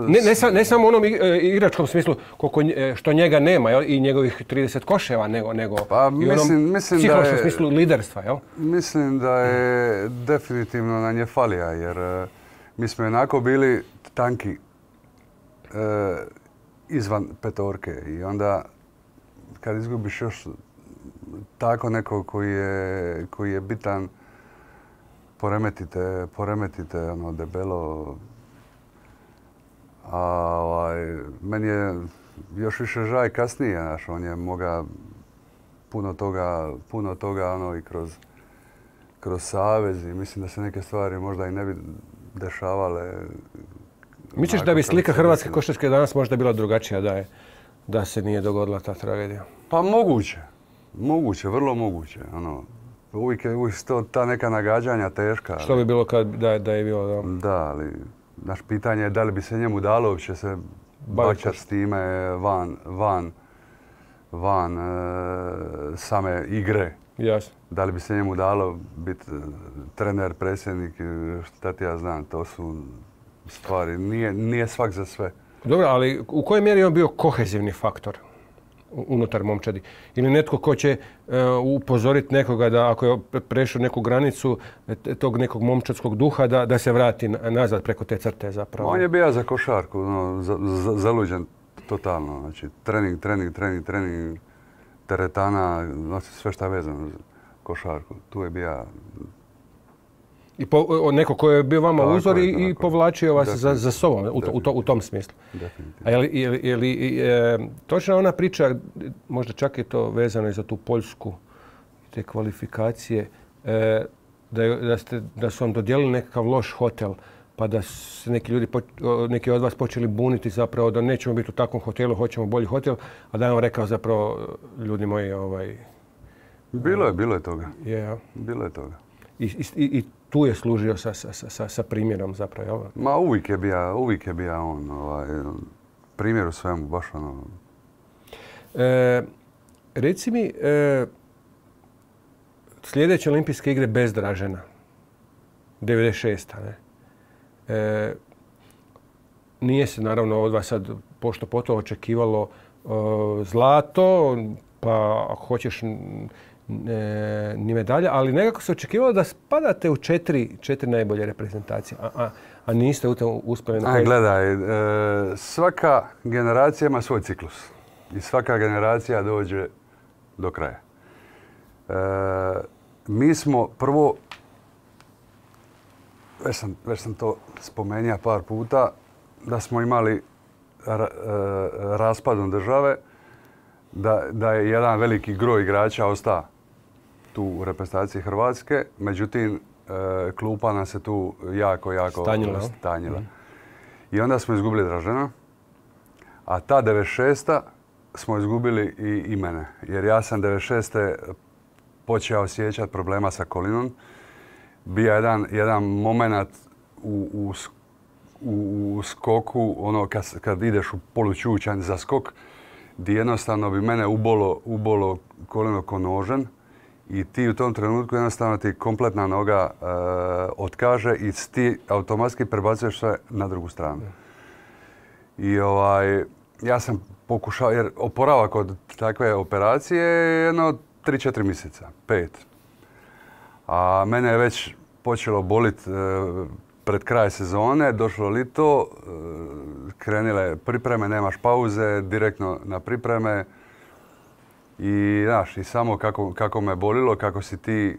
Ne, ne, sa, ne samo u onom igračkom smislu koliko, što njega nema, jel? I njegovih trideset koševa, nego, nego pa, i u onom mislim psihološkom je, smislu liderstva. Jel? Mislim da je definitivno na nje falija, jer uh, mi smo jednako bili tanki uh, izvan petorke i onda kad izgubiš još tako nekog koji je, koji je bitan, poremetite, poremetite ono debelo. A ovaj, meni je još više žaj kasnije, znaš, on je moga puno toga, puno toga ono i kroz, kroz savez i mislim da se neke stvari možda i ne bi dešavale. Misliš da bi slika hrvatske košarke danas možda bila drugačija da je, da se nije dogodila ta tragedija? Pa moguće, moguće, vrlo moguće. Ono, uvijek je uvijek to, ta neka nagađanja teška. Što bi bilo kad da, da je bilo? Da, da ali naš pitanje je da li bi se njemu dalo uopće se bačati s time van, van, van e, same igre. Jasno. Da li bi se njemu dalo biti trener, predsjednik, šta ti ja znam, to su stvari. Nije, nije svak za sve. Dobro, ali u kojoj mjeri je on bio kohezivni faktor unutar momčadi? Ili netko ko će uh, upozoriti nekoga da ako je prešao neku granicu tog nekog momčadskog duha da, da se vrati nazad preko te crte zapravo? On je bio za košarku, no, za, za, zaluđen totalno. Znači, trening, trening, trening, trening, teretana, znači sve šta je vezano za košarku. Tu je bio... I po, neko ko je bio vama tako uzor i, i povlačio vas za, za sobom u, to, u, to, u tom smislu. A je li, je li, je li e, točna ona priča, možda čak je to vezano i za tu Poljsku, te kvalifikacije, e, da, je, da, ste, da su vam dodijelili nekakav loš hotel, pa da se neki ljudi, neki od vas počeli buniti zapravo da nećemo biti u takvom hotelu, hoćemo bolji hotel, a da je on rekao zapravo, ljudi moji, ovaj... Bilo je, bilo je toga. Yeah. Bilo je toga. I, i, i tu je služio sa, sa, sa, sa primjerom zapravo, jel? Ma uvijek je bio, uvijek je bio on, ovaj, primjer u svemu, baš ono... E, reci mi, e, sljedeće olimpijske igre bez Dražena, devedeset šesta. Ne? E, nije se naravno od vas sad pošto poto očekivalo o, zlato, pa ako hoćeš E, ni medalja, ali nekako se očekivalo da spadate u četiri, četiri najbolje reprezentacije, a, a, a niste u tom uspjeli. Na gledaj, e, svaka generacija ima svoj ciklus i svaka generacija dođe do kraja. E, mi smo prvo, već sam, već sam to spomenuo par puta, da smo imali ra, e, raspadom države, da, da je jedan veliki groj igrača ostao tu u reprezentaciji Hrvatske. Međutim, e, klupa nam se tu jako, jako stanjila. stanjila. Mm. I onda smo izgubili Dražena, a ta devedeset šesta smo izgubili i, i mene. Jer ja sam devedeset šeste počeo osjećati problema sa kolinom. Bio jedan, jedan moment u, u, u, u skoku, ono kad, kad ideš u polučučanj za skok, gdje jednostavno bi mene ubolo, ubolo koleno ko nožen i ti u tom trenutku jednostavno ti kompletna noga e, otkaže i ti automatski prebacuješ sve na drugu stranu. I ovaj, ja sam pokušao, jer oporavak od takve operacije je jedno tri četiri mjeseca, pet. A mene je već počelo boliti e, pred kraj sezone, došlo lito, krenile pripreme, nemaš pauze, direktno na pripreme. I znaš, i samo kako, kako me bolilo, kako si ti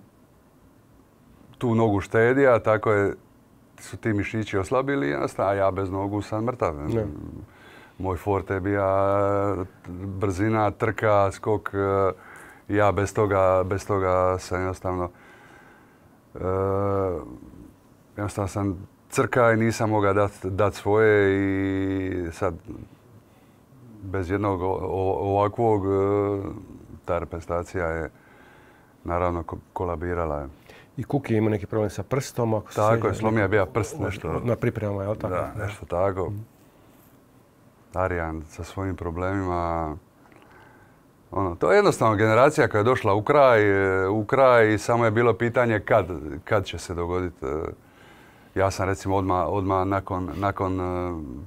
tu nogu štedija, tako je, su ti mišići oslabili, a ja bez nogu sam mrtav. Ne. Moj forte je bio brzina, trka, skok, ja bez toga, bez toga sam jednostavno... Uh, Jednostavno sam crka i nisam mogao dati dat svoje i sad bez jednog ovakvog ta reprezentacija je naravno kolabirala. Je. I Kuki je imao neki problem sa prstom. Ako tako je, slomio je bio prst nešto. Na pripremama, je li tako? Da, nešto tako. Mm. Arijan sa svojim problemima. Ono, to je jednostavno generacija koja je došla u kraj, u kraj i samo je bilo pitanje kad, kad će se dogoditi. Ja sam recimo odmah, odmah nakon, nakon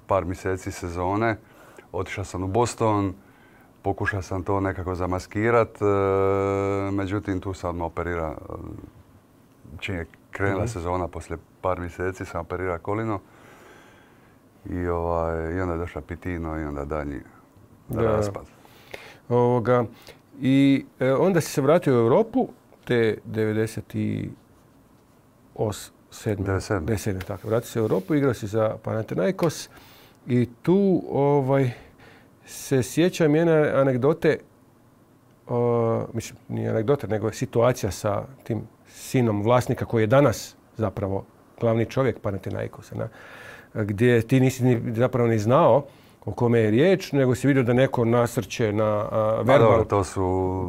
par mjeseci sezone otišao sam u Boston, pokušao sam to nekako zamaskirat, međutim tu sam odmah operirao. Čim je krenula mm-hmm. sezona, poslije par mjeseci sam operirao kolino i, ovaj, i onda je došla Pitino i onda dalji da. raspad. Ovoga, I e, onda si se vratio u Europu te devedeset sedme. Tako, vratio se u Europu, igrao si za Panathinaikos i tu ovaj, se sjećam jedne anegdote, uh, mislim, nije anegdote, nego je situacija sa tim sinom vlasnika koji je danas zapravo glavni čovjek Panathinaikosa, na, gdje ti nisi ni, zapravo ni znao o kome je riječ, nego si vidio da neko nasrće na uh, verbal... Dobro, to su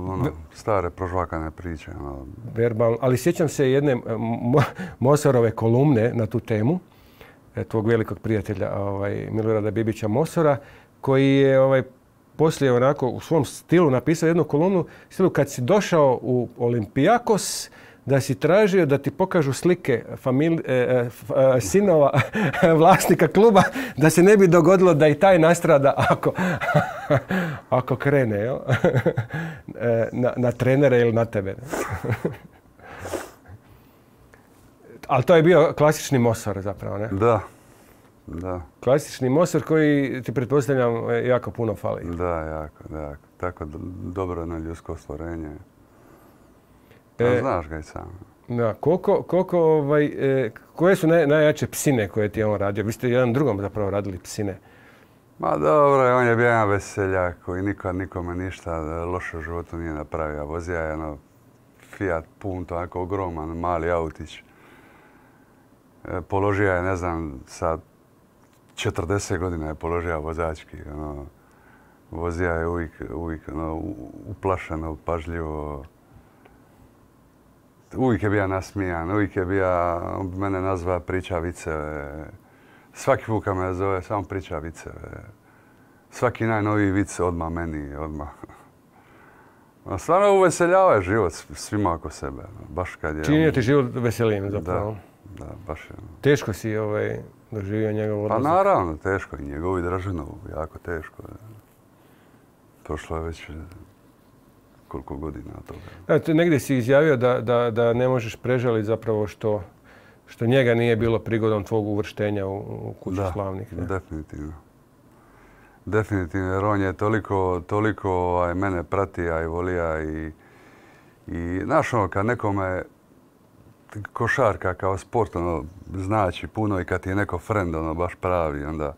ono, stare prožvakane priče. Ono. Verbal, ali sjećam se jedne Mo, Mosarove kolumne na tu temu, tvog velikog prijatelja ovaj, Milorada Bibića Mosora, koji je ovaj, poslije onako u svom stilu napisao jednu kolumnu, stilu kad si došao u Olympiakos, da si tražio da ti pokažu slike famili, e, e, sinova vlasnika kluba, da se ne bi dogodilo da i taj nastrada ako, ako krene jel? na, na trenere ili na tebe. Ali to je bio klasični Mosor zapravo, ne? Da. Da. Klasični Mosor koji ti pretpostavljam jako puno fali. Da, jako, da, jako. Tako dobro jedno ljudsko stvorenje. E, znaš ga i sam. Da, koliko, koliko, ovaj, e, koje su naj, najjače psine koje ti je on radio? Vi ste jedan drugom zapravo radili psine. Ma dobro, on je bio jedan veseljak koji nikad nikome ništa loše u životu nije napravio. Vozija je ono Fiat Punto, onako ogroman, mali autić. E, položio je, ne znam, sa četrdeset godina je položio vozački. Ono, vozija je uvijek, uvijek ono, uplašeno, pažljivo. Uvijek je bio nasmijan, uvijek je bio, mene nazva priča viceve. Svaki put kad me zove, samo priča viceve. Svaki najnoviji vic odmah meni, odmah. Stvarno uveseljava život svima oko sebe. Baš kad je... Čini ti život veselijim zapravo. Da, da, baš je. Teško si ovaj, doživio njegov odlazak? Pa naravno, teško. I njegovi Draženovu, jako teško. Prošlo je već... koliko godina toga. Eto, negdje si izjavio da, da, da ne možeš prežaliti zapravo što, što njega nije bilo prigodom tvog uvrštenja u, u kuću da, slavnih. Da, definitivno. Definitivno, jer on je toliko, toliko ovaj, mene pratija i volija i, i znaš ono, kad nekome košarka kao sport ono, znači puno i kad ti je neko friend ono, baš pravi, onda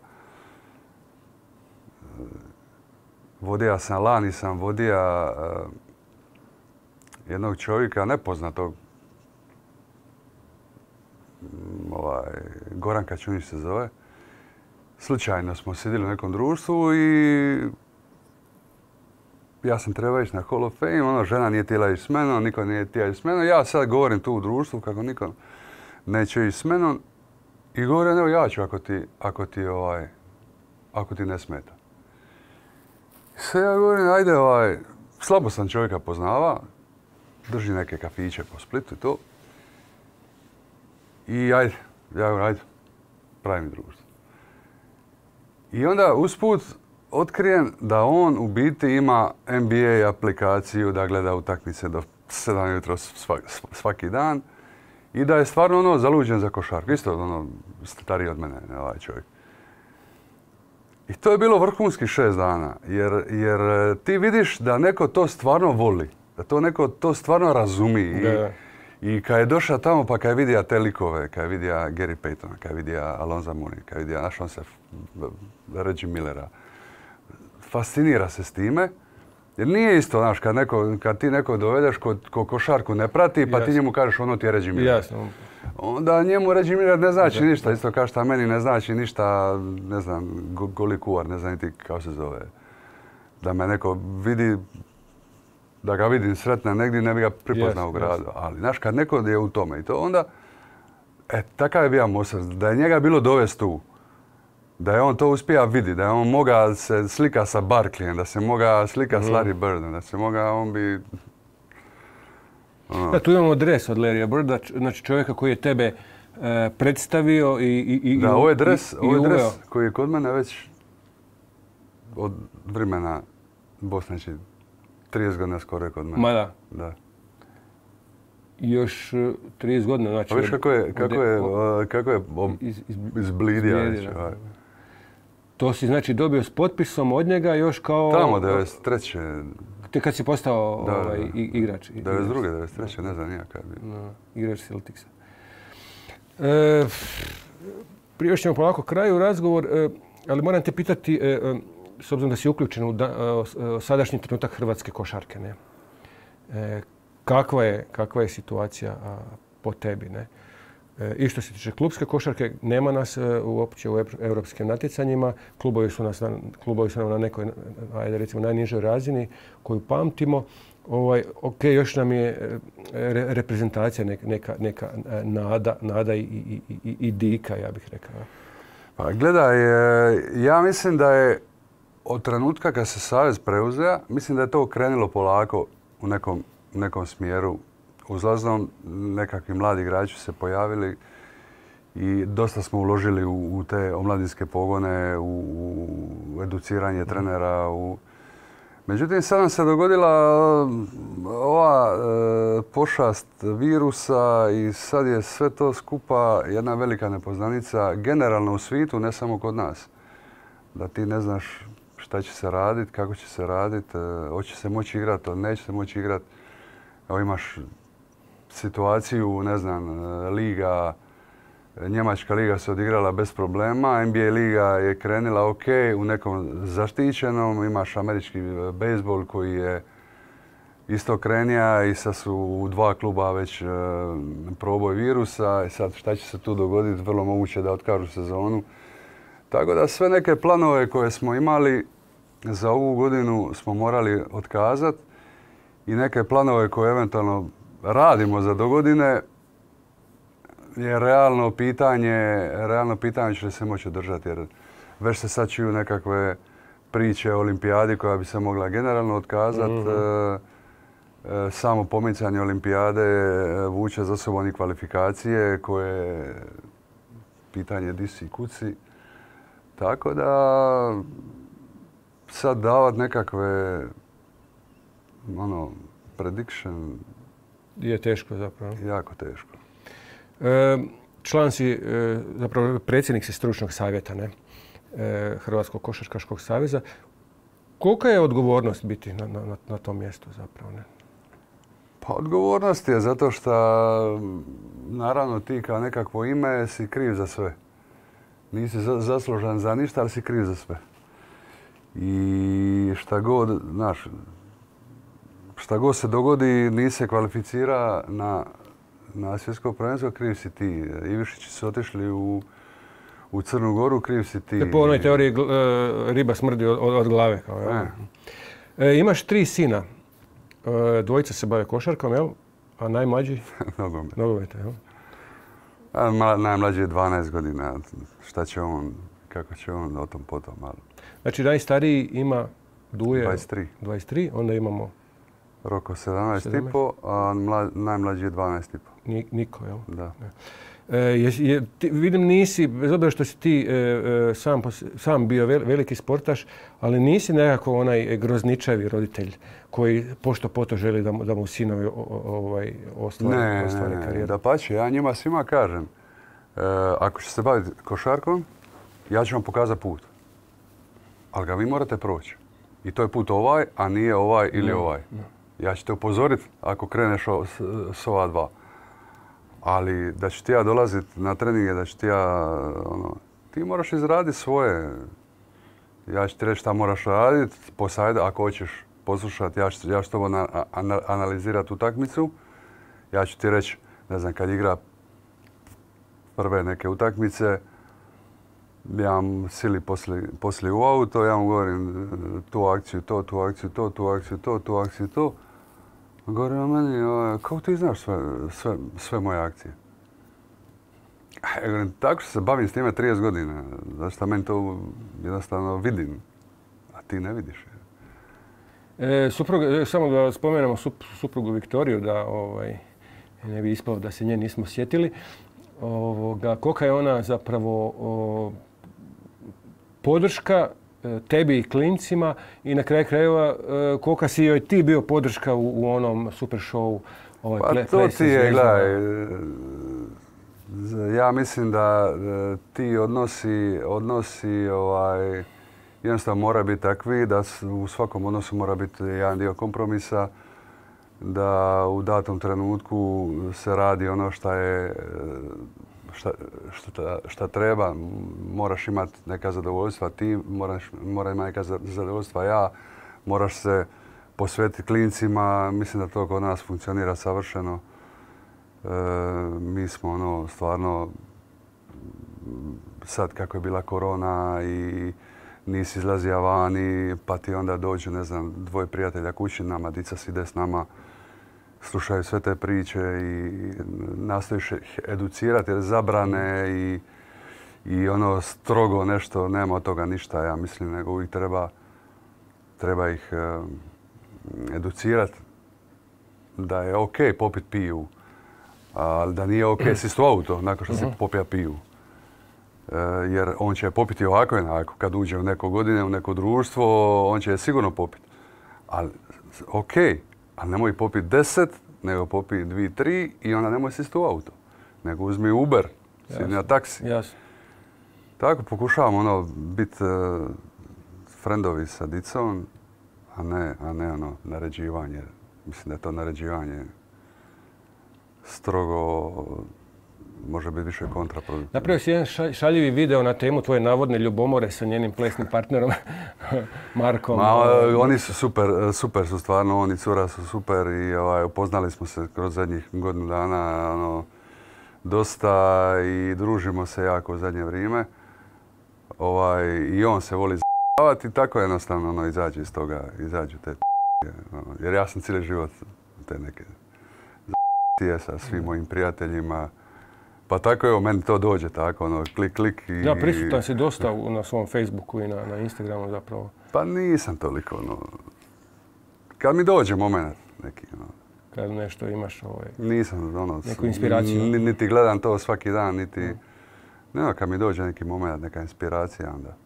vodija sam, lani sam vodija uh, jednog čovjeka nepoznatog, um, ovaj, Goran Kačunić se zove. Slučajno smo sjedili u nekom društvu i ja sam trebao ići na Hall of Fame, ono, žena nije htjela ići s menom, niko nije htjela ići s menom. Ja sad govorim tu u društvu kako niko neće ići s menom i govorim, evo ja ću ako ti, ako ti, ovaj, ako ti ne smeta. Sve ja govorim, ajde, ovaj, slabo sam čovjeka poznava, drži neke kafiće po Splitu i to. I ajde, ja govorim, ajde, pravi mi društvo. I onda usput otkrijem da on u biti ima N B A aplikaciju da gleda utakmice do sedam jutro svaki dan i da je stvarno ono zaluđen za košarku. Isto ono stariji od mene, ovaj čovjek. I to je bilo vrhunski šest dana, jer, jer ti vidiš da neko to stvarno voli, da to neko to stvarno razumi. Da. I, i kad je došao tamo, pa kad je vidio te likove, kad je vidio Gary Paytona, kad je vidio Alonza Mourning, kad je vidio, našao se Reggie Millera, fascinira se s time. Jer nije isto, znaš, kad, neko, kad ti neko dovedeš ko, ko košarku ne prati, pa Jasno. ti njemu kažeš ono ti je Reggie Miller. Jasno. Onda njemu Reggie Miller ne znači da. ništa, isto kao što meni ne znači ništa, ne znam, goli kuvar, ne znam niti kako se zove. da me neko vidi, da ga vidim sretna negdje, ne bi ga prepoznao Yes, u gradu. yes. Ali, znaš, kad neko je u tome i to onda, e, takav je bio Mosar, da je njega bilo dovesti tu, da je on to uspija vidi, da je on moga se slika sa Barkleyem, da se moga slika mm. s Larry Birdom, da se moga, on bi... Ono. Da, tu imamo dres od Larrya Birda, znači čovjeka koji je tebe e, predstavio i, i, i Da, ovo je dres, i, ovo je i dres koji je kod mene već od vremena Bosne, znači trideset godina skoro je kod mene. Ma da. Da. Još trideset godina, znači... A viš kako je, kako je, kako je iz, iz, izblidio. Znači, to si znači dobio s potpisom od njega još kao... Tamo, devedeset treće. Te kad si postao da, ovaj, da. igrač? devedeset druge, devedeset treće ne znam nijak kad bi. No, igrač Celticsa. E, prije još ćemo polako kraju razgovor, e, ali moram te pitati, e, e, s obzirom da si uključen u da, e, sadašnji trenutak hrvatske košarke, ne? E, kakva, je, kakva je situacija a, po tebi, ne? E, I što se tiče klubske košarke, nema nas e, uopće u europskim natjecanjima. Klubovi su, nas na, klubovi su nam na nekoj, ajde recimo, najnižoj razini koju pamtimo. Ovaj, ok, još nam je re, reprezentacija neka, neka, neka nada, nada i, i, i, i dika, ja bih rekao. Pa gledaj, ja mislim da je od trenutka kad se savez preuzeo, mislim da je to krenulo polako u nekom, nekom smjeru. Uzlaznom nekakvi mladi igrači su se pojavili i dosta smo uložili u, u te omladinske pogone, u, u educiranje trenera. U... Međutim, sad nam se dogodila ova e, pošast virusa i sad je sve to skupa jedna velika nepoznanica generalno u svijetu, ne samo kod nas. Da ti ne znaš šta će se raditi, kako će se raditi, e, hoće se moći igrati, neće se moći igrati. Evo imaš situaciju, ne znam, liga, Njemačka liga se odigrala bez problema, N B A liga je krenila ok, u nekom zaštićenom, imaš američki bejsbol koji je isto krenija i sad su u dva kluba već e, proboj virusa i sad šta će se tu dogoditi, vrlo moguće da otkažu sezonu. Tako da sve neke planove koje smo imali za ovu godinu smo morali otkazati i neke planove koje eventualno radimo za dogodine je realno pitanje, realno pitanje će se moći održati jer već se sad čuju nekakve priče o olimpijadi koja bi se mogla generalno otkazati. Mm-hmm. e, samo pomicanje olimpijade vuče za sobom i kvalifikacije koje pitanje di si i kuci. Tako da sad davat nekakve ono, prediction je teško zapravo. Jako teško. E, član si, e, zapravo predsjednik si stručnog savjeta, ne? E, Hrvatskog košarkaškog saveza. Kolika je odgovornost biti na, na, na tom mjestu zapravo, ne? Pa odgovornost je zato što naravno ti kao nekakvo ime si kriv za sve. Nisi za, zaslužan za ništa, ali si kriv za sve. I šta god, znaš, šta god se dogodi, nisi se kvalificira na, na svjetsko prvenstvo, kriv si ti. Ivišići su otišli u, u Crnu Goru, kriv si ti. Po onoj teoriji riba smrdi od, od glave. Kao, ja. e, imaš tri sina. E, dvojica se bave košarkom, jel? A najmlađi? Nogomet. Nogomet, jel? A, najmlađi je dvanaest godina. Šta će on, kako će on o tom potom, ali... Znači najstariji ima Duje... dvadeset tri. dvadeset tri, onda imamo... Roko sedamnaest i pol, a mla, najmlađi je dvanaest i pol. Niko, jel? Da. E, je, je, ti, vidim nisi, bez obzira što si ti e, e, sam, sam bio vel, veliki sportaš, ali nisi nekako onaj grozničavi roditelj koji pošto poto želi da mu, da mu sinovi o, o, ovaj, ostvare, ostvare ne, karijeru. Ne, da pače, ja njima svima kažem, e, ako će se baviti košarkom, ja ću vam pokazati put. Ali ga vi morate proći. I to je put ovaj, a nije ovaj ili no, ovaj. No. Ja ću te upozoriti ako kreneš o, s, s ova dva. Ali da ću ti ja dolaziti na treninge, da ću ti ja, ono, ti moraš izraditi svoje. Ja ću ti reći šta moraš raditi, posajde, ako hoćeš poslušati, ja ću, ja ću to na, ana, analizirati utakmicu. Ja ću ti reći, ne znam, kad igra prve neke utakmice, ja mu sili poslije, poslije u auto, ja mu govorim tu akciju, to, tu akciju, to, tu akciju, to, tu akciju, to. Govori on meni, kako ti znaš sve, sve, sve moje akcije? Ja govorim, tako što se bavim s time trideset godina. Zašto meni to jednostavno vidim, a ti ne vidiš. E, suprug, samo da spomenemo suprugu Viktoriju, da ovaj, ne bi ispalo da se nje nismo sjetili. Ovoga, kolika je ona zapravo o, podrška tebi i klincima i na kraju krajeva kolika si joj ti bio podrška u, u onom super showu? Ovaj, pa ple, to ti je, gledaj, ja mislim da ti odnosi, odnosi ovaj, jednostavno mora biti takvi da u svakom odnosu mora biti jedan dio kompromisa, da u datom trenutku se radi ono šta je šta, šta, šta treba. Moraš imati neka zadovoljstva, ti moraš, mora imati neka zadovoljstva, ja. Moraš se posvetiti klincima, mislim da to kod nas funkcionira savršeno. E, mi smo ono stvarno sad kako je bila korona i nisi izlazija vani, pa ti onda dođu, ne znam, dvoje prijatelja kući nama, dica si ide s nama, slušaju sve te priče i nastojiš ih educirati jer zabrane i, i ono strogo nešto, nema od toga ništa, ja mislim, nego uvijek treba, treba ih uh, educirati da je ok popit piju, ali da nije ok sist u auto nakon što si popija piju. Jer on će popiti ovako i onako. Kad uđe u neko godine, u neko društvo, on će je sigurno popiti. Ali, ok, ali nemoj popiti deset, nego popiti dvi, tri i onda nemoj sisti u auto. Nego uzmi Uber, sidi na taksi. Jasno. Tako pokušavam ono biti uh, friendovi sa dicom, a ne, a ne ono naređivanje. Mislim da je to naređivanje strogo može biti više kontraproduktivno. Napravio si jedan šaljivi video na temu tvoje navodne ljubomore sa njenim plesnim partnerom Markom. Ma, oni su super, super su stvarno, oni cura su super i ovaj, upoznali smo se kroz zadnjih godinu dana ono, dosta i družimo se jako u zadnje vrijeme. Ovaj, I on se voli z***avati i tako jednostavno ono, izađe iz toga, izađu te ono, jer ja sam cijeli život te neke z***tije sa svim mojim prijateljima. Pa tako evo, meni to dođe tako, ono, klik, klik i... Da, prisutan si dosta na svom Facebooku i na, na Instagramu zapravo. Pa nisam toliko, ono... Kad mi dođe moment neki, ono... Kad nešto imaš, ovaj... Nisam, ono... Neku inspiraciju. Niti gledam to svaki dan, niti... Mm. Ne, kad mi dođe neki moment, neka inspiracija, onda...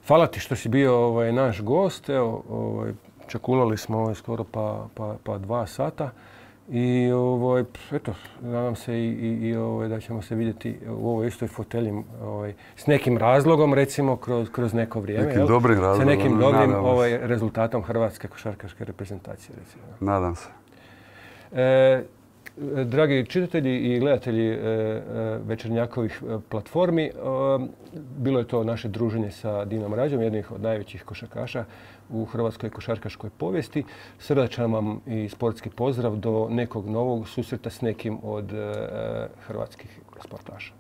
Hvala ti što si bio ovaj, naš gost, evo, ovaj, čakulali smo ovaj, skoro pa, pa, pa dva sata. I ovaj, eto, nadam se i, i, i ovaj, da ćemo se vidjeti u ovoj istoj fotelji ovaj, s nekim razlogom, recimo, kroz, kroz neko vrijeme. Nekim dobrim razlogom. Sa nekim dobrim ovaj, rezultatom hrvatske košarkaške reprezentacije, recimo. Nadam se. E, dragi čitatelji i gledatelji e, Večernjakovih platformi, e, bilo je to naše druženje sa Dinom Rađom, jednih od najvećih košarkaša u hrvatskoj košarkaškoj povijesti. Srdačan vam i sportski pozdrav do nekog novog susreta s nekim od e, hrvatskih sportaša.